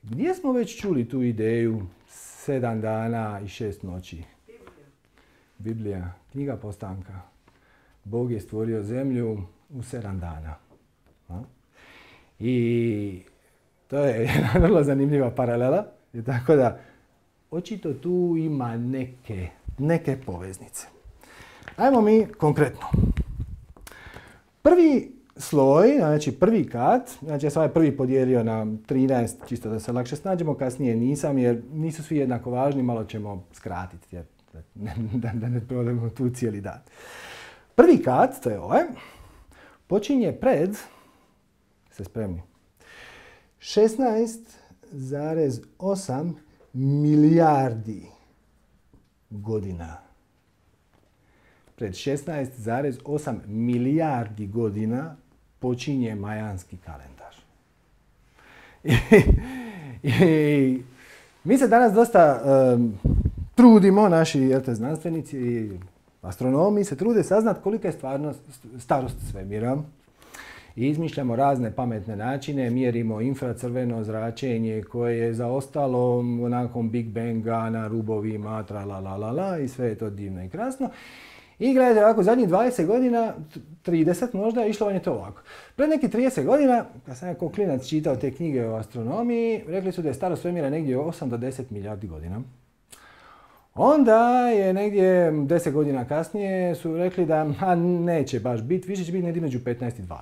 Gdje smo već čuli tu ideju 7 dana i 6 noći? Biblija, knjiga Postanka. Bog je stvorio zemlju u 7 dana. I to je jedna vrlo zanimljiva paralela. I tako da, očito tu ima neke poveznice. Ajmo mi konkretno. Prvi sloj, znači prvi kat, znači ja sam ovaj prvi podijelio na 13, čisto da se lakše snađemo, kasnije nisam jer nisu svi jednako važni, malo ćemo skratiti jer da ne provodimo tu cijeli dan. Prvi kat, to je ovaj, počinje pred, ste spremni, 16,8 milijardi godina. Pred 16,8 milijardi godina počinje majanski kalendar. I mi se danas dosta trudimo, naši znanstvenici i astronomi se trude saznat kolika je stvarno starost svemira. I izmišljamo razne pametne načine, mjerimo infracrveno zračenje koje je zaostalo nakon Big Banga na rubovima, tralalala i sve je to divno i krasno. I gledajte ovako, zadnjih 20 godina, 30 možda, išlo vam je to ovako. Pred neki 30 godina, kad sam jako klinac čitao te knjige o astronomiji, rekli su da je starost svemira negdje 8 do 10 milijardi godina. Onda je negdje 10 godina kasnije su rekli da neće baš biti, više će biti negdje među 15 i 20.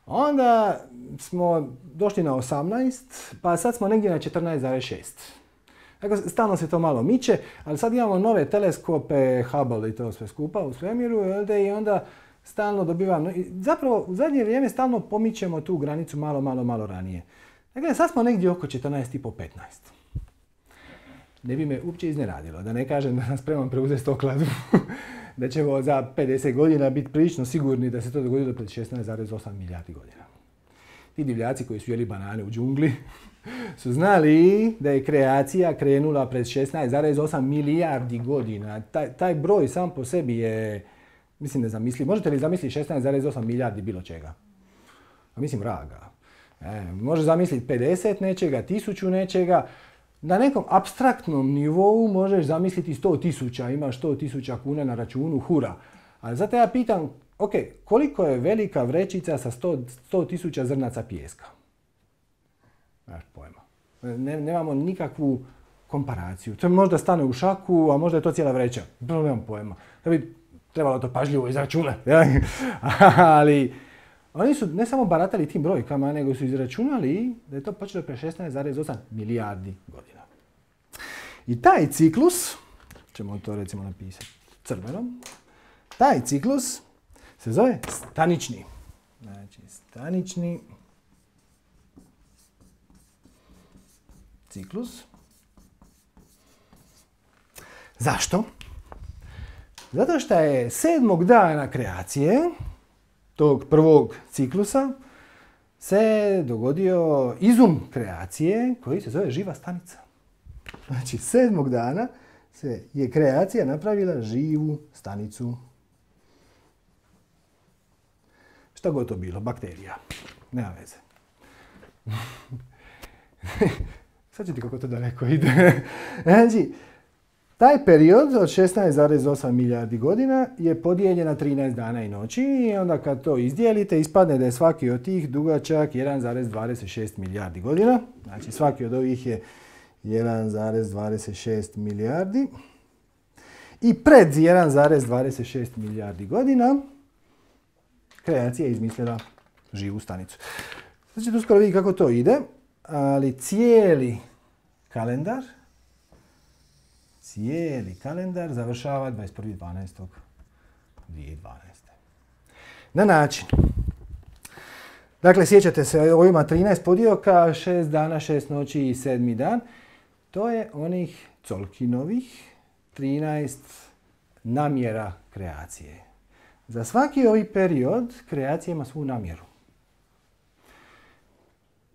Onda smo došli na 18, pa sad smo negdje na 14,6. Dakle, stalno se to malo miče, ali sad imamo nove teleskope, Hubble i to sve skupa u svemiru, i onda stalno dobivamo, zapravo u zadnje vrijeme stalno pomičemo tu granicu malo ranije. Dakle, sad smo negdje oko 14,5-15. Ne bi me uopće iznenadilo, da ne kažem da sam spreman preuzeti stokladu, da ćemo za 50 godina biti prilično sigurni da se to dogodilo pred 16,8 milijardi godina. Ti divljaci koji su jeli banane u džungli su znali da je kreacija krenula pred 16,8 milijardi godina. Taj broj sam po sebi je, mislim, nezamisliv. Možete li zamisliti 16,8 milijardi bilo čega? Mislim, vraga. Može zamisliti 50 nečega, 1000 nečega. Na nekom apstraktnom nivou možeš zamisliti 100.000, imaš 100.000 kuna na računu, hura. Ali zato ja pitam, ok, koliko je velika vrećica sa 100.000 zrnaca pijeska? Nemaš pojma. Nemamo nikakvu komparaciju. To možda stane u šaku, a možda je to cijela vreća. Nemam pojma. Da bi trebalo to pažljivo izračunati. Ali oni su ne samo baratali tim brojkama, nego su izračunali da je to počelo pre 16,8 milijardi godina. I taj ciklus, ćemo to recimo napisati crvenom, taj ciklus se zove stanični. Znači, stanični ciklus. Zašto? Zato što je 7. dana kreacije, tog prvog ciklusa, se dogodio izum kreacije koji se zove živa stanica. Znači, 7. dana je kreacija napravila živu stanicu. Šta god to bilo, bakterija. Nema veze. Sad ću ti kako to daleko ide. Znači, taj period od 16,8 milijardi godina je podijeljen na 13 dana i noći i onda kad to izdijelite ispadne da je svaki od tih dugačak 1,26 milijardi godina. Znači svaki od ovih je 1,26 milijardi. I pred 1,26 milijardi godina kreacija je izmislila živu stanicu. Sad ćete uskoro vidjeti kako to ide, ali cijeli kalendar završava 21.12.2012. Na način. Dakle, sjećate se, ovo ima 13 podioka, 6 dana, 6 noći i 7. dan. To je onih Colkinovih 13 namjera kreacije. Za svaki ovaj period kreacija ima svu namjeru.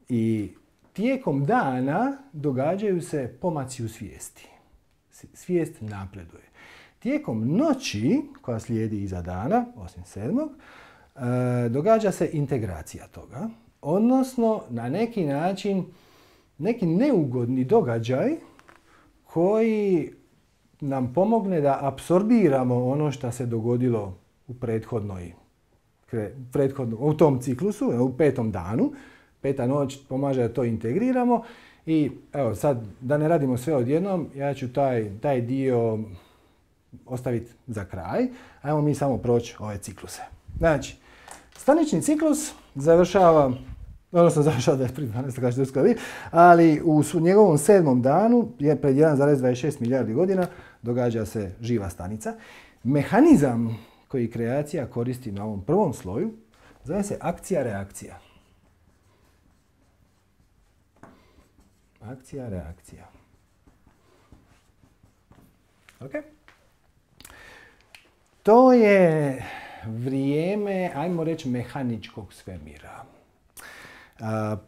I tijekom dana događaju se pomaci u svijesti. Svijest napreduje. Tijekom noći, koja slijedi iza dana, osim 7. Događa se integracija toga. Odnosno, na neki način, neki neugodni događaj koji nam pomogne da apsorbiramo ono što se dogodilo u tom ciklusu, u 5. danu. 5. noć pomaže da to integriramo. I evo sad, da ne radimo sve odjednom, ja ću taj dio ostaviti za kraj. Ajmo mi samo proći ove cikluse. Znači, stanični ciklus završava 21.12. kao što ste vidjeli, ali u njegovom 7. danu, pred 1,26 milijardi godina, događa se živa stanica. Mehanizam koji kreacija koristi na ovom prvom sloju zove se akcija-reakcija. Akcija-reakcija. Ok? To je vrijeme, ajmo reći, mehaničkog svemira.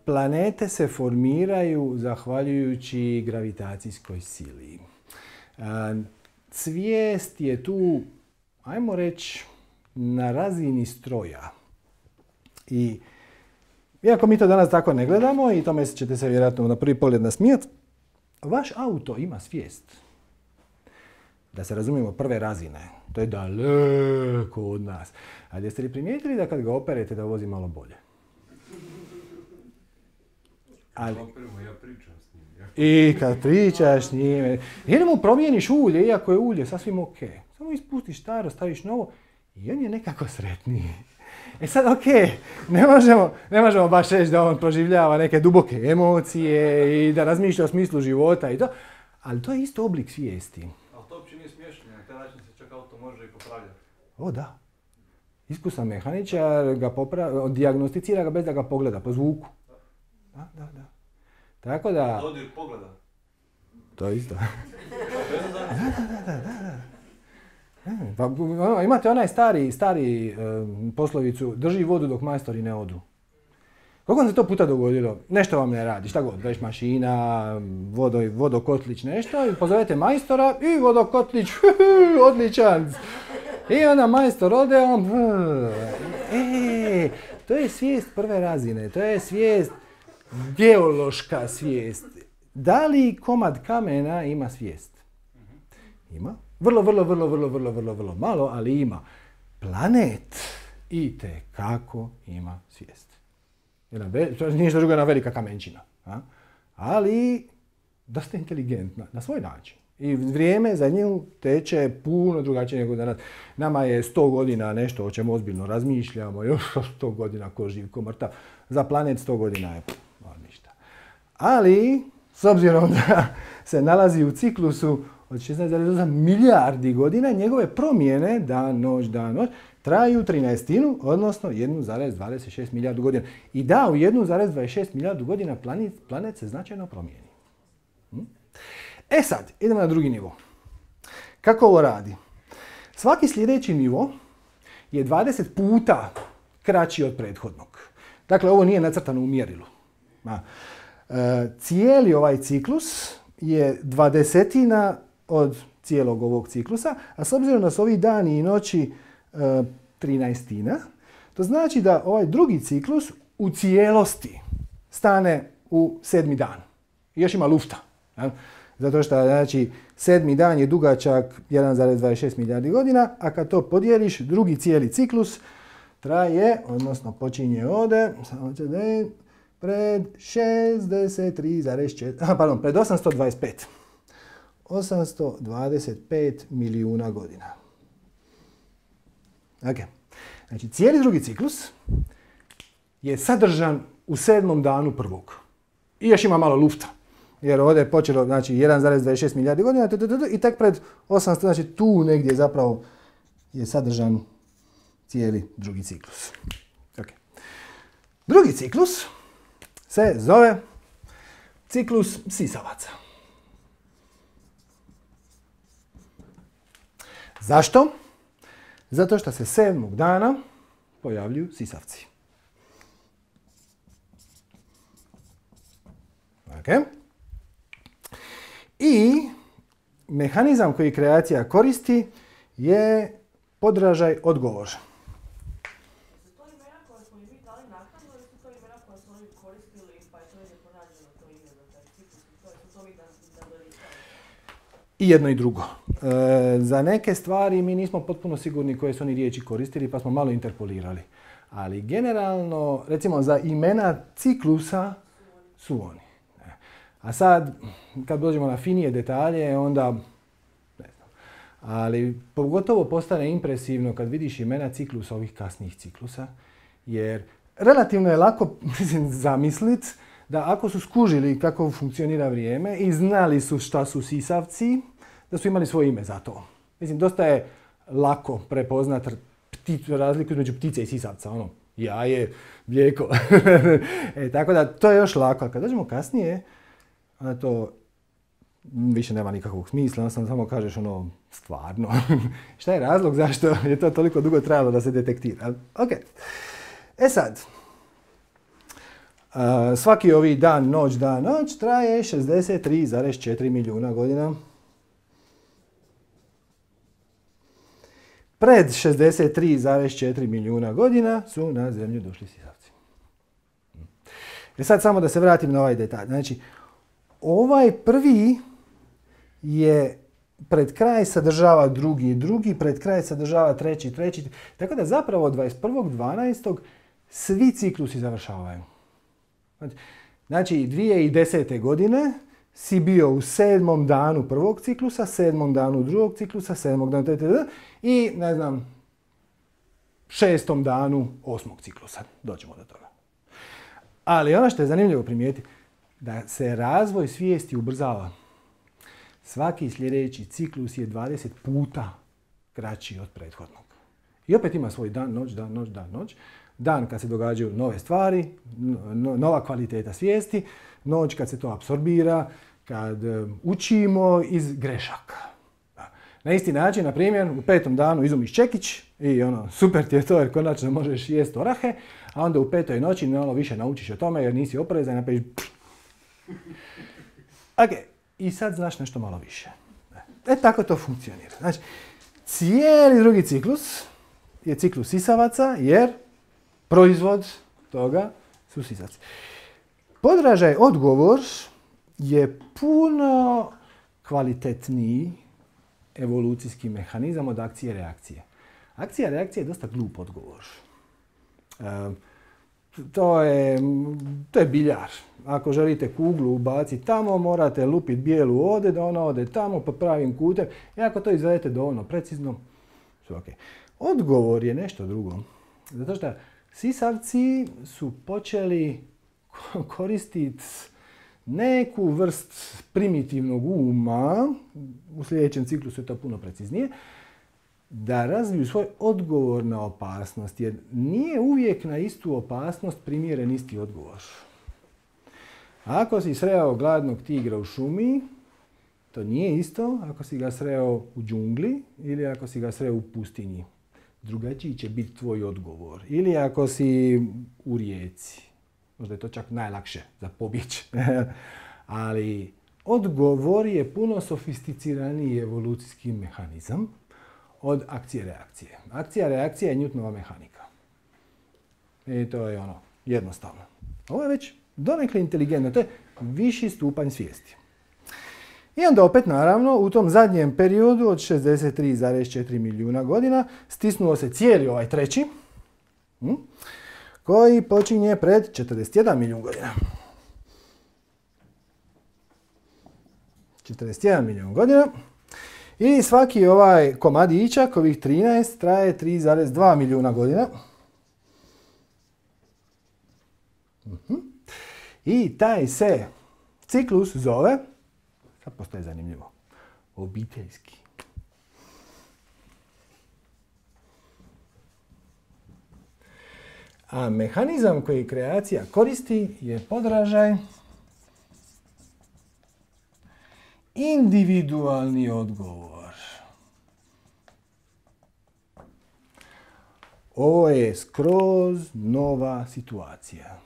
Planete se formiraju zahvaljujući gravitacijskoj sili. Svijest je tu, ajmo reći, na razini stroja. I iako mi to danas tako ne gledamo, i tome ćete se vjerojatno na prvi pogled nasmijati, vaš auto ima svijest. Da se razumijemo, prve razine. To je daleko od nas. Ali jeste li primijetili da kad ga operete da vozi malo bolje? Ali, ja pričam s njim. i kad pričaš s njime, ili mu promijeniš ulje, iako je ulje sasvim ok. Samo ispustiš staro, staviš novo i on je nekako sretniji. E sad, ok, ne možemo baš reći da on proživljava neke duboke emocije i da razmišlja o smislu života i to, ali to je isto oblik svijesti. Ali to uopće nije smiješno, na taj način se čak auto može i popravljati. O da. Iskusan mehaničar ga dijagnosticira ga bez da ga pogleda, po zvuku. Da. Tako da... Dodir pogleda. To je isto. Pa, imate onaj stari poslovicu, drži vodu dok majstori ne odu. Koliko vam se to puta dogodilo? Nešto vam ne radi, šta god, veš mašina, vodokotlić, nešto, i pozovete majstora i vodokotlić, odličan. I onda majstor ode, on... To je svijest prve razine, to je svijest, geološka svijest. Da li komad kamena ima svijest? Ima. Vrlo malo, ali ima. Planet itekako ima svijest. To nije ništa drugo, jedna velika kamenčina. Ali dosta inteligentna, na svoj način. I vrijeme za nju teče puno drugačije nego danas. Nama je 100 godina nešto o čemu ozbiljno razmišljamo, još 100 godina ko živ, ko mrtav. Za planet 100 godina je ništa. Ali, s obzirom da se nalazi u ciklusu od 16,8 milijardi godina, njegove promjene, dan, noć, traju 13, odnosno 1,26 milijardu godina. I da, u 1,26 milijardu godina planet se značajno promijeni. E sad, idemo na drugi nivo. Kako ovo radi? Svaki sljedeći nivo je 20 puta kraći od prethodnog. Dakle, ovo nije nacrtano u mjerilu. Cijeli ovaj ciklus je 20 od cijelog ovog ciklusa, a s obzirom da su ovi dani i noći 13, to znači da ovaj drugi ciklus u cijelosti stane u 7. dan. I još ima lufta. Zato što znači, 7. dan je dugačak 1,26 milijardi godina, a kad to podijeliš, drugi cijeli ciklus traje, odnosno počinje ovdje, pred 63,4, pardon, pred 825. 825 milijuna godina. Ok. Znači, cijeli drugi ciklus je sadržan u 7. danu prvog. I još ima malo lufta. Jer ovdje je počelo, znači, 1,26 milijardi godina i tek pred 800, znači tu negdje zapravo je sadržan cijeli drugi ciklus. Ok. Drugi ciklus se zove ciklus sisavaca. Zašto? Zato što se 7. dana pojavljuju sisavci. Okay. I mehanizam koji kreacija koristi je podražaj odgovor. Su to imena koje smo mi dali naknadno ili su to imena koje smo oni koristili pa je to je pronađeno to ime za taj ciklus? Su to mi nadoristali? I jedno i drugo. Za neke stvari mi nismo potpuno sigurni koje su oni riječi koristili pa smo malo interpolirali. Ali generalno, recimo za imena ciklusa su oni. A sad, kad dođemo na finije detalje, onda ne znam. Ali pogotovo postane impresivno kad vidiš imena ciklusa, ovih kasnijih ciklusa, jer relativno je lako zamisliti da ako su skužili kako funkcionira vrijeme i znali su šta su sisavci, da su imali svoje ime za to. Mislim, dosta je lako prepoznat razliku između ptice i sisavca, ono, jaje, mlijeko. Tako da, to je još lako. A kad dođemo kasnije, onda to više nema nikakvog smisla, samo kažeš ono, stvarno. Šta je razlog zašto je to toliko dugo trajalo da se detektira? Ok. E sad, svaki ovi dan, noć traje 63,4 milijuna godina. Pred 63,4 milijuna godina su na Zemlju došli sisavci. Sad samo da se vratim na ovaj detalj. Znači, ovaj prvi je pred kraj sadržava drugi pred kraj sadržava treći. Tako da zapravo 21.12. svi ciklusi završavaju. Znači 2010. godine si bio u 7. danu prvog ciklusa, 7. danu drugog ciklusa, 7. danu i ne znam 6. danu 8. ciklusa. Doćemo do toga. Ali ono što je zanimljivo primijetiti, da se razvoj svijesti ubrzava. Svaki sljedeći ciklus je 20 puta kraći od prethodnog. I opet ima svoj dan, noć, dan, noć, dan, noć. Dan kad se događaju nove stvari, nova kvaliteta svijesti, noć kad se to apsorbira, kad učimo iz grešaka. Na isti način, na primjer, u 5. danu izumiš čekić i super ti je to jer konačno možeš jesti orahe, a onda u 5. noći više naučiš o tome jer nisi oprezan i napraviš Ok, i sad znaš nešto malo više. Tako to funkcionira. Znači, cijeli drugi ciklus je ciklus sisavaca jer proizvod toga su sisavci. Podražaj odgovor je puno kvalitetniji evolucijski mehanizam od akcije i reakcije. Akcija i reakcija je dosta glup odgovor. To je biljar. Ako želite kuglu ubaciti tamo, morate lupiti bijelu ovdje, da ona ode tamo pod pravim kutem. I ako to izvedete dovoljno precizno, sve ok. Odgovor je nešto drugo. Zato što sisavci su počeli koristiti neku vrst primitivnog uma, u sljedećem ciklusu je to puno preciznije, da razviju svoj odgovor na opasnost, jer nije uvijek na istu opasnost primjeren isti odgovor. Ako si sreo gladnog tigra u šumi, to nije isto ako si ga sreo u džungli ili ako si ga sreo u pustinji. Drugačiji će biti tvoj odgovor. Ili ako si u rijeci. Možda je to čak najlakše za pobjeći. Ali odgovor je puno sofisticiraniji evolucijski mehanizam od akcije-reakcije. Akcija-reakcija je Newtonova mehanika. I to je jednostavno. Ovo je već donekle inteligentno. To je viši stupanj svijesti. I onda opet, naravno, u tom zadnjem periodu od 63,4 milijuna godina stisnuo se cijeli ovaj treći, koji počinje pred 41 milijun godina. 41 milijun godina. I svaki ovaj komadićak, ovih 13, traje 3,2 milijuna godina. I taj se ciklus zove, sad postaje zanimljivo, obiteljski. A mehanizam koji kreacija koristi je podražaj individualni odgovor. Ovo je skroz nova situacija.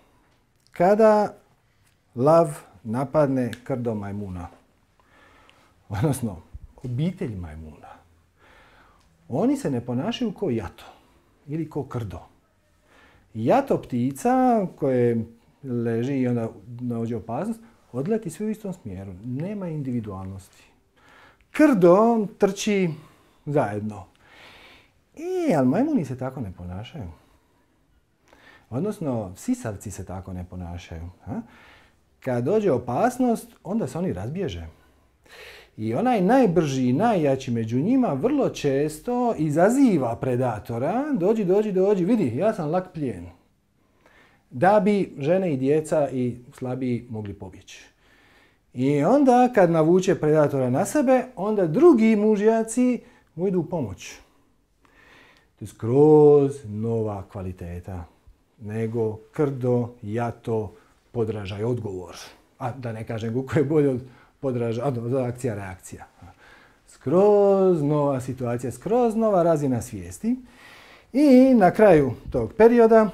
Kada lav napadne krdo majmuna, odnosno obitelj majmuna, oni se ne ponašaju kao jato ili kao krdo. Jato ptica koje leži i onda dođe opasnost, odleti sve u istom smjeru. Nema individualnosti. Krdo trči zajedno. Ali majmuni se tako ne ponašaju. Odnosno, sisavci se tako ne ponašaju. Kad dođe opasnost, onda se oni razbježe. I onaj najbrži i najjači među njima vrlo često izaziva predatora. Dođi, vidi, ja sam lak plijen. Da bi žene i djeca i slabiji mogli pobjeći. I onda kad navuče predatora na sebe, onda drugi mužjaci mu idu u pomoć. To je skroz nova kvaliteta. Nego krdo, jato, podražaj, odgovor. A da ne kažem kako je bolje od podražaj, od akcija, reakcija. Skroz nova situacija, skroz nova razina svijesti. I na kraju tog perioda,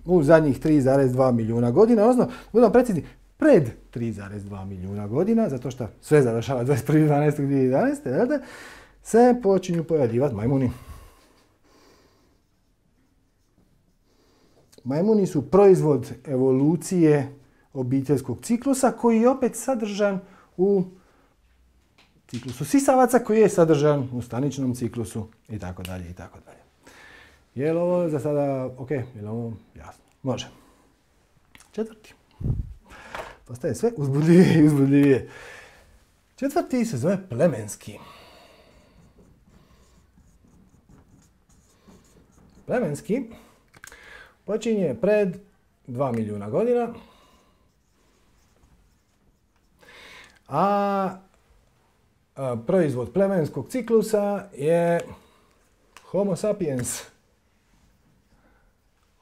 u zadnjih 3,2 milijuna godina, odnosno, budemo precizni, pred 3,2 milijuna godina, zato što sve završava 21.12.2011. se počinju pojavljivati majmuni. Majmuni su proizvod evolucije obiteljskog ciklusa koji je opet sadržan u ciklusu sisavaca koji je sadržan u staničnom ciklusu itd. Je li ovo za sada ok? Je li ovo jasno? Može. 4. Postaje sve uzbudljivije i uzbudljivije. 4. se zove plemenski. Plemenski počinje pred 2 milijuna godina, a proizvod plemenskog ciklusa je Homo sapiens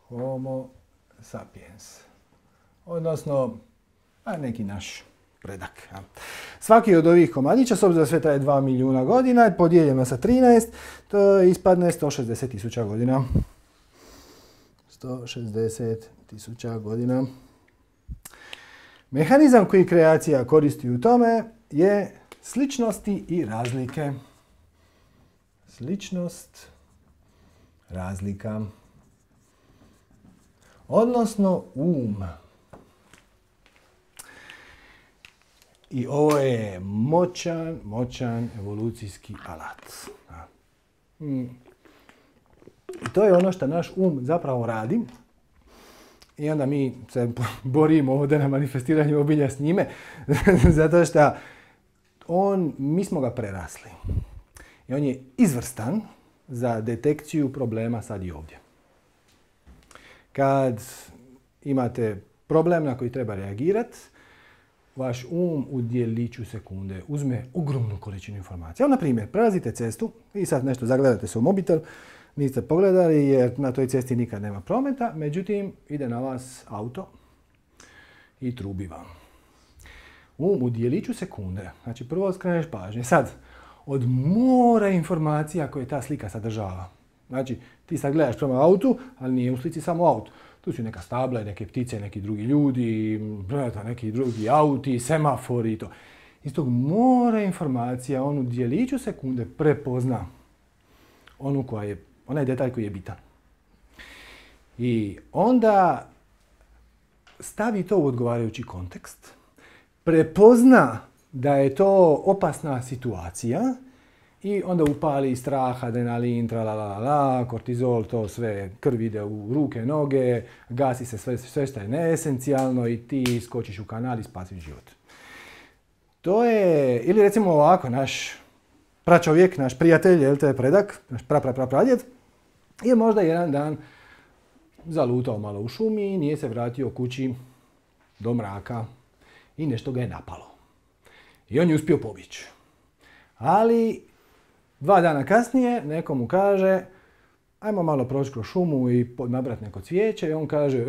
Homo sapiens. Odnosno, neki naš predak. Svaki od ovih komadića, s obzirom da sve traje 2 milijuna godina, podijeljeno sa 13, to ispadne 160.000 godina. 160.000 godina. Mehanizam koji kreacija koristi u tome je sličnosti i razlike. Sličnost, razlika. Odnosno I ovo je moćan evolucijski alat. I to je ono što naš zapravo radi. I onda mi se borimo ovdje na manifestiranju obilja s njime, zato što mi smo ga prerasli. I on je izvrstan za detekciju problema sad i ovdje. Kad imate problem na koji treba reagirati, vaš u djeliću sekunde uzme ogromnu količinu informacija. Na primjer, prelazite cestu i sad nešto zagledate se u mobitel, niste pogledali jer na toj cesti nikad nema prometa, međutim ide na vas auto i trubi vam. U djeliću sekunde, znači prvo skreneš pažnje. Sad, od mora informacija koje ta slika sadržava. Znači, ti sad gledaš prema autu, ali nije u slici samo auto. Tu su neka stabla, neke ptice, neki drugi ljudi, neki drugi auti, semafori i to. Iz tog mora informacija, on u djeliću sekunde prepozna onaj detalj koji je bitan. I onda stavi to u odgovarajući kontekst, prepozna da je to opasna situacija i onda upali strah, adrenalin, tralalala, kortizol, to sve, krv ide u ruke, noge, gasi se sve što je neesencijalno i ti skočiš u kanal i spasiš život. To je, ili recimo ovako, naš pračovjek, naš prijatelj, jel te predak, naš pradjed, je možda jedan dan zalutao malo u šumi i nije se vratio kući do mraka i nešto ga je napalo. I on je uspio pobjeći. Ali 2 dana kasnije neko mu kaže ajmo malo proći kroz šumu i nabrati neko cvijeće i on kaže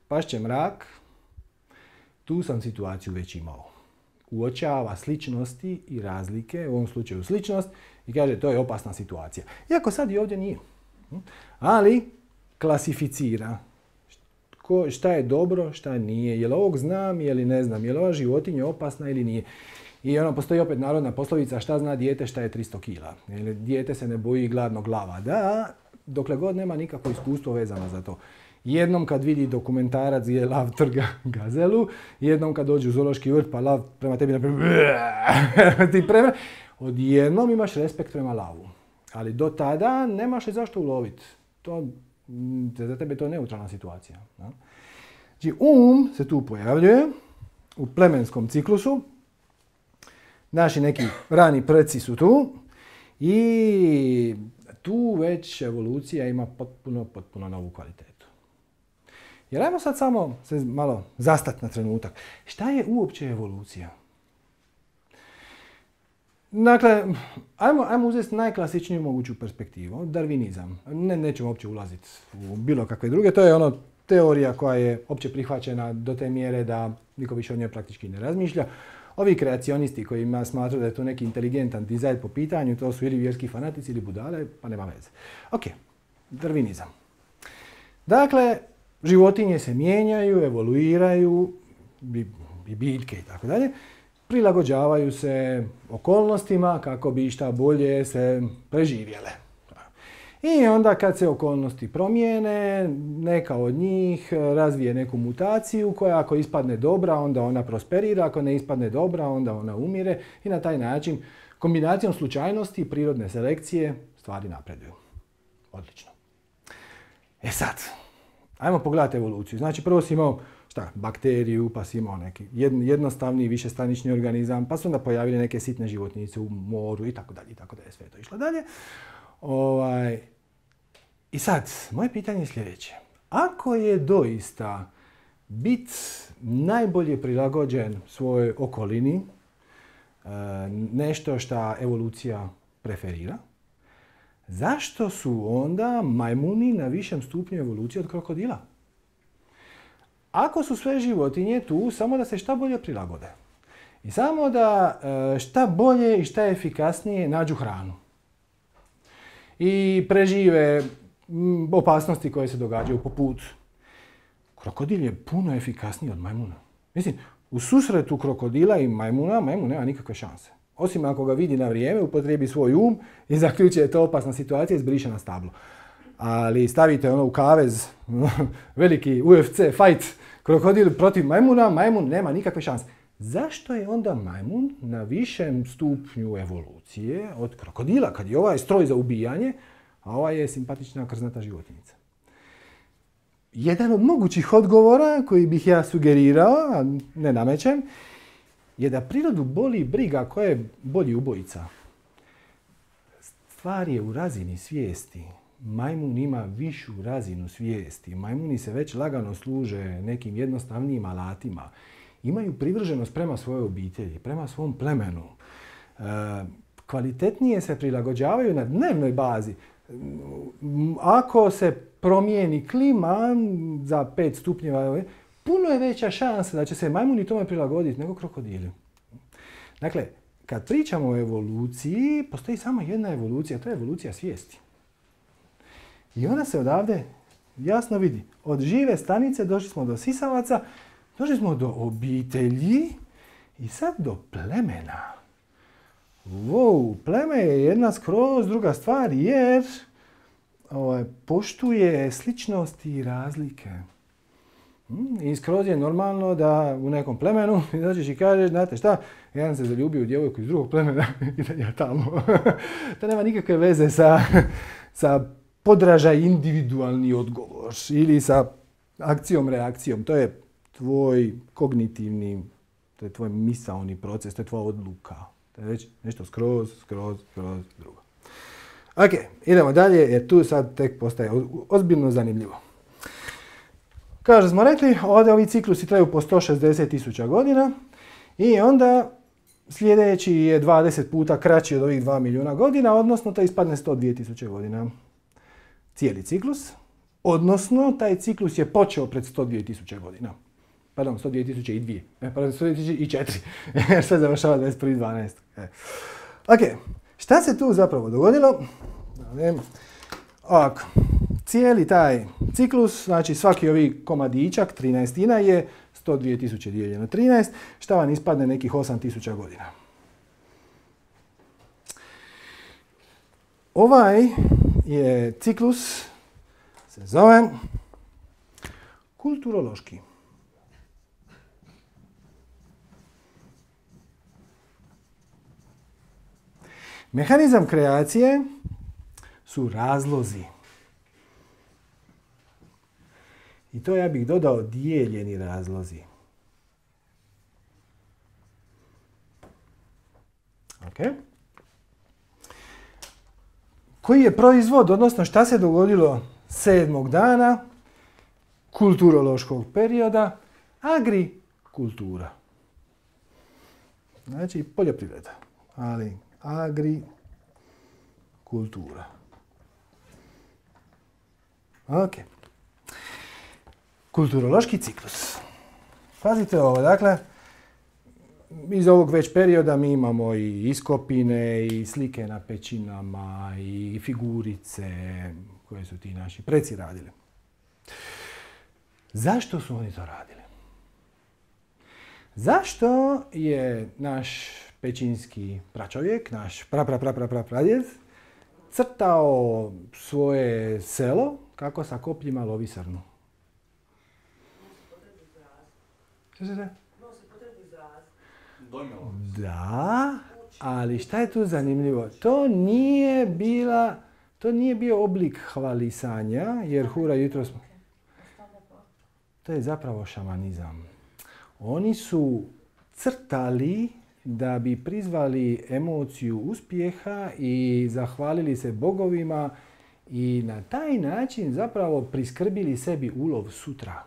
pašće mrak, tu sam situaciju već imao. Uočava sličnosti i razlike, u ovom slučaju sličnost, i kaže to je opasna situacija. Iako sad i ovdje nije. Ali klasificira šta je dobro, šta nije, je li ovog znam ili ne znam, je li ova životinja opasna ili nije. I postoji opet narodna poslovica šta zna dijete šta je 300 kila. Dijete se ne boji gladnog lava. Da, dokle god nema nikakvo iskustvo vezano za to. Jednom kad vidi dokumentarac gdje lav trga gazelu, jednom kad dođe u zoološki vrt pa lav prema tebi odjednom imaš respekt prema lavu. Ali do tada nemaš je zašto uloviti. Za tebe je to neutralna situacija. Znači se tu pojavljuje u plemenskom ciklusu. Naši neki rani preci su tu i tu već evolucija ima potpuno novu kvalitetu. Jer ajmo sad samo se malo zastati na trenutak. Šta je uopće evolucija? Dakle, ajmo uzeti najklasičniju moguću perspektivu, darvinizam. Nećemo uopće ulaziti u bilo kakve druge, to je teorija koja je opće prihvaćena do te mjere da niko više o njoj praktički ne razmišlja. Ovi kreacionisti koji smatraju da je to neki inteligentan dizajn po pitanju, to su ili vjerski fanatici ili budale, pa nema veze. Ok, darvinizam. Dakle, životinje se mijenjaju, evoluiraju, i biljke i tako dalje, prilagođavaju se okolnostima kako bi šta bolje se preživjele. I onda kad se okolnosti promijene, neka od njih razvije neku mutaciju koja ako ispadne dobra, onda ona prosperira, ako ne ispadne dobra, onda ona umire i na taj način kombinacijom slučajnosti i prirodne selekcije stvari napreduju. Odlično. E sad, ajmo pogledati evoluciju. Znači prvo si imao bakteriju, pa si imao neki jednostavni višestanični organizam, pa su onda pojavili neke sitne životinjice u moru i tako dalje, sve to išlo dalje. I sad, moje pitanje je sljedeće. Ako je doista bit najbolje prilagođen svojoj okolini, nešto što evolucija preferira, zašto su onda majmuni na višem stupnju evolucije od krokodila? Ako su sve životinje tu samo da se šta bolje prilagode. I samo da šta bolje i šta efikasnije nađu hranu. I prežive opasnosti koje se događaju po putu. Krokodil je puno efikasniji od majmuna. Mislim, u susretu krokodila i majmuna, majmun nema nikakve šanse. Osim ako ga vidi na vrijeme, upotrijebi svoj um i zaključi je to opasna situacija i zbriše na stablo. Ali stavite ono u kavez, veliki UFC fight, krokodil protiv majmuna, majmun nema nikakve šanse. Zašto je onda majmun na višem stupnju evolucije od krokodila, kad je ovaj stroj za ubijanje, a ovaj je simpatična krznata životinjica? Jedan od mogućih odgovora koji bih ja sugerirao, a ne namećem, je da prirodu boli briga ko je bolji ubojica. Stvar je u razini svijesti. Majmun ima višu razinu svijesti. Majmuni se već lagano služe nekim jednostavnijim alatima. Imaju privrženost prema svojoj obitelji, prema svom plemenu. Kvalitetnije se prilagođavaju na dnevnoj bazi. Ako se promijeni klima za 5 stupnjeva, puno je veća šansa da će se majmuni tome prilagoditi nego krokodili. Dakle, kad pričamo o evoluciji, postoji samo jedna evolucija, to je evolucija svijesti. I ona se odavde jasno vidi. Od žive stanice došli smo do sisavaca, došli smo do obitelji i sad do plemena. Wow, pleme je jedna skroz druga stvar jer poštuje sličnosti i razlike. I skroz je normalno da u nekom plemenu dođeš i kažeš, znate šta, jedan se zaljubio u djevojku iz drugog plemena i ja tamo. To nema nikakve veze sa podražaj individualni odgovor ili sa akcijom, reakcijom. To je tvoj kognitivni, to je tvoj misaoni proces, to je tvoja odluka. To je već nešto skroz drugo. Ok, idemo dalje jer tu sad tek postaje ozbiljno zanimljivo. Kao što smo rekli, ovdje ovi ciklusi traju po 160.000 godina i onda sljedeći je 20 puta kraći od ovih 2 milijuna godina, odnosno to ispadne 102.000 godina. Cijeli ciklus, odnosno taj ciklus je počeo pred 102.000 godina. Pardon, 102.002. Pardon, 102.004. Jer sve završava 21.12. Ok, šta se tu zapravo dogodilo? Ovako, cijeli taj ciklus, znači svaki ovi komadićak, 13 je 102.000 dijeljeno 13, šta vam ispadne nekih 8.000 godina. Ovaj je ciklus, se zove kulturološki. Mehanizam kreacije su razlozi. I to ja bih dodao dijeljeni razlozi. Ok. Koji je proizvod, odnosno šta se dogodilo 7. dana kulturološkog perioda? Agrikultura. Znači poljoprivreda, ali agrikultura. Ok. Kulturološki ciklus. Pazite ovo, dakle, iz ovog već perioda mi imamo i iskopine, i slike na pećinama, i figurice koje su ti naši preci radili. Zašto su oni to radili? Zašto je naš pećinski pračovjek, naš pradjed, crtao svoje selo kako sa kopljima lovi srnu? Što se da? Da, ali šta je tu zanimljivo? To nije bio oblik hvalisanja, jer hura jutros... To je zapravo šamanizam. Oni su crtali da bi prizvali emociju uspjeha i zahvalili se bogovima i na taj način zapravo priskrbili sebi ulov sutra.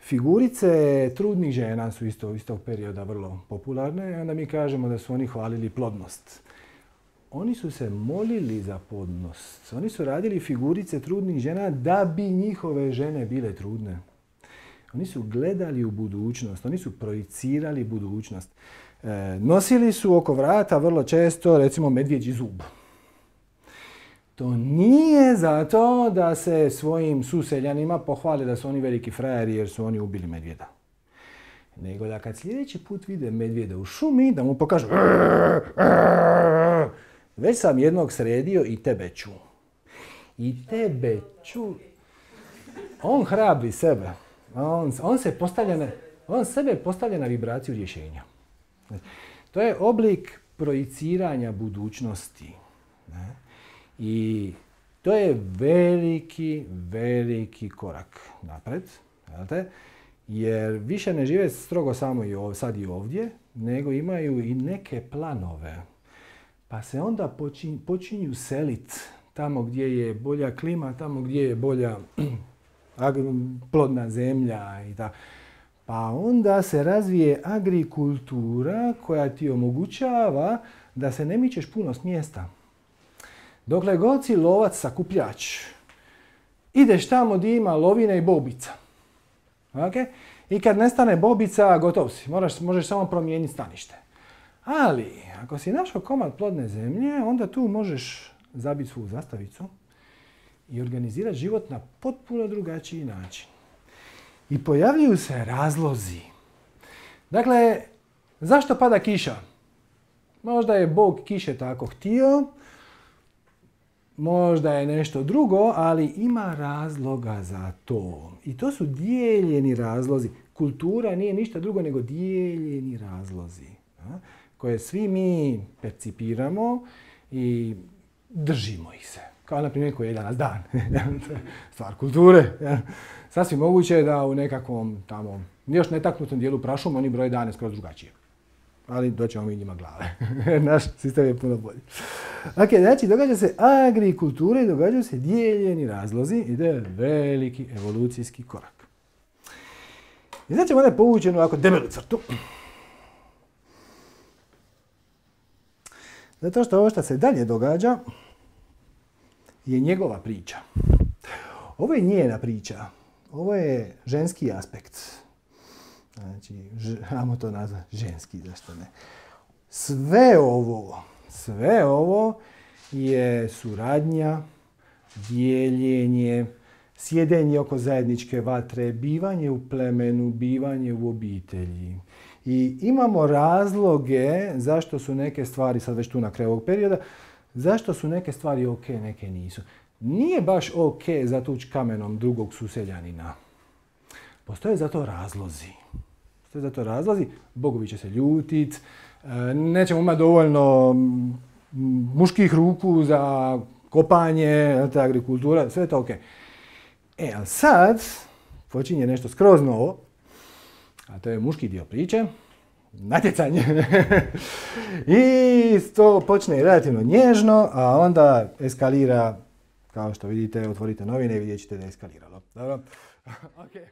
Figurice trudnih žena su iz tog perioda vrlo popularne i onda mi kažemo da su oni hvalili plodnost. oni su se molili za plodnost. Oni su radili figurice trudnih žena da bi njihove žene bile trudne. Oni su gledali u budućnost, oni su projicirali budućnost. Nosili su oko vrata vrlo često, recimo, medvjeđi zub. To nije zato da se svojim suseljanima pohvale da su oni veliki frajeri jer su oni ubili medvjeda. Nego da kad sljedeći put vide medvjeda u šumi, da mu pokažu već sam jednog sredio i tebe ću. I tebe ću. On hrabri sebe. On sebe postavlja na vibraciju rješenja. To je oblik projiciranja budućnosti. I to je veliki korak napred. Jer više ne žive strogo samo sad i ovdje, nego imaju i neke planove. Pa se onda počinju seliti tamo gdje je bolja klima, tamo gdje je bolja plodna zemlja i tako. Pa onda se razvije agrikultura koja ti omogućava da se ne mičeš puno s mjesta. Dokle god si lovac sakupljač, ideš tamo gdje ima lovine i bobica. Okay? I kad nestane bobica, gotov si. Možeš samo promijeniti stanište. Ali, ako si našao komad plodne zemlje, onda tu možeš zabiti svu zastavicu i organizirati život na potpuno drugačiji način. I pojavljuju se razlozi. Dakle, zašto pada kiša? Možda je Bog kiše tako htio, možda je nešto drugo, ali ima razloga za to. I to su dijeljeni razlozi. Kultura nije ništa drugo nego dijeljeni razlozi, koje svi mi percipiramo i držimo ih se. Kao na primjer koji je danas dan. Stvar kulture. Sasvim moguće je da u nekakvom tamo još netaknutom dijelu prašuma oni broje dane skroz drugačije. Ali doćemo mi njima glave. Naš sistem je puno bolji. Ok, znači događa se agrikultura i događaju se dijeljeni razlozi i to je veliki evolucijski korak. I znači ćemo ovdje povući jednu ovako debelu crtu. Zato što ovo što se dalje događa je njegova priča. Ovo je njena priča. Ovo je ženski aspekt. Znači, ajmo to nazvati ženski, zašto ne. Sve ovo je suradnja, dijeljenje, sjedenje oko zajedničke vatre, bivanje u plemenu, bivanje u obitelji. I imamo razloge zašto su neke stvari, sad već tu na kraju ovog perioda, zašto su neke stvari ok, neke nisu. Nije baš ok zatući kamenom drugog suseljanina. Postoje za to razlozi. Bogovi će se ljutit, nećemo imati dovoljno muških ruku za kopanje, ta agrikultura, sve je to ok. Ali sad počinje nešto skroz novo, a to je muški dio priče, natjecanje. I to počne relativno nježno, a onda eskalira, kao što vidite, otvorite novine i vidjet ćete da je eskaliralo. Dobro? Okay.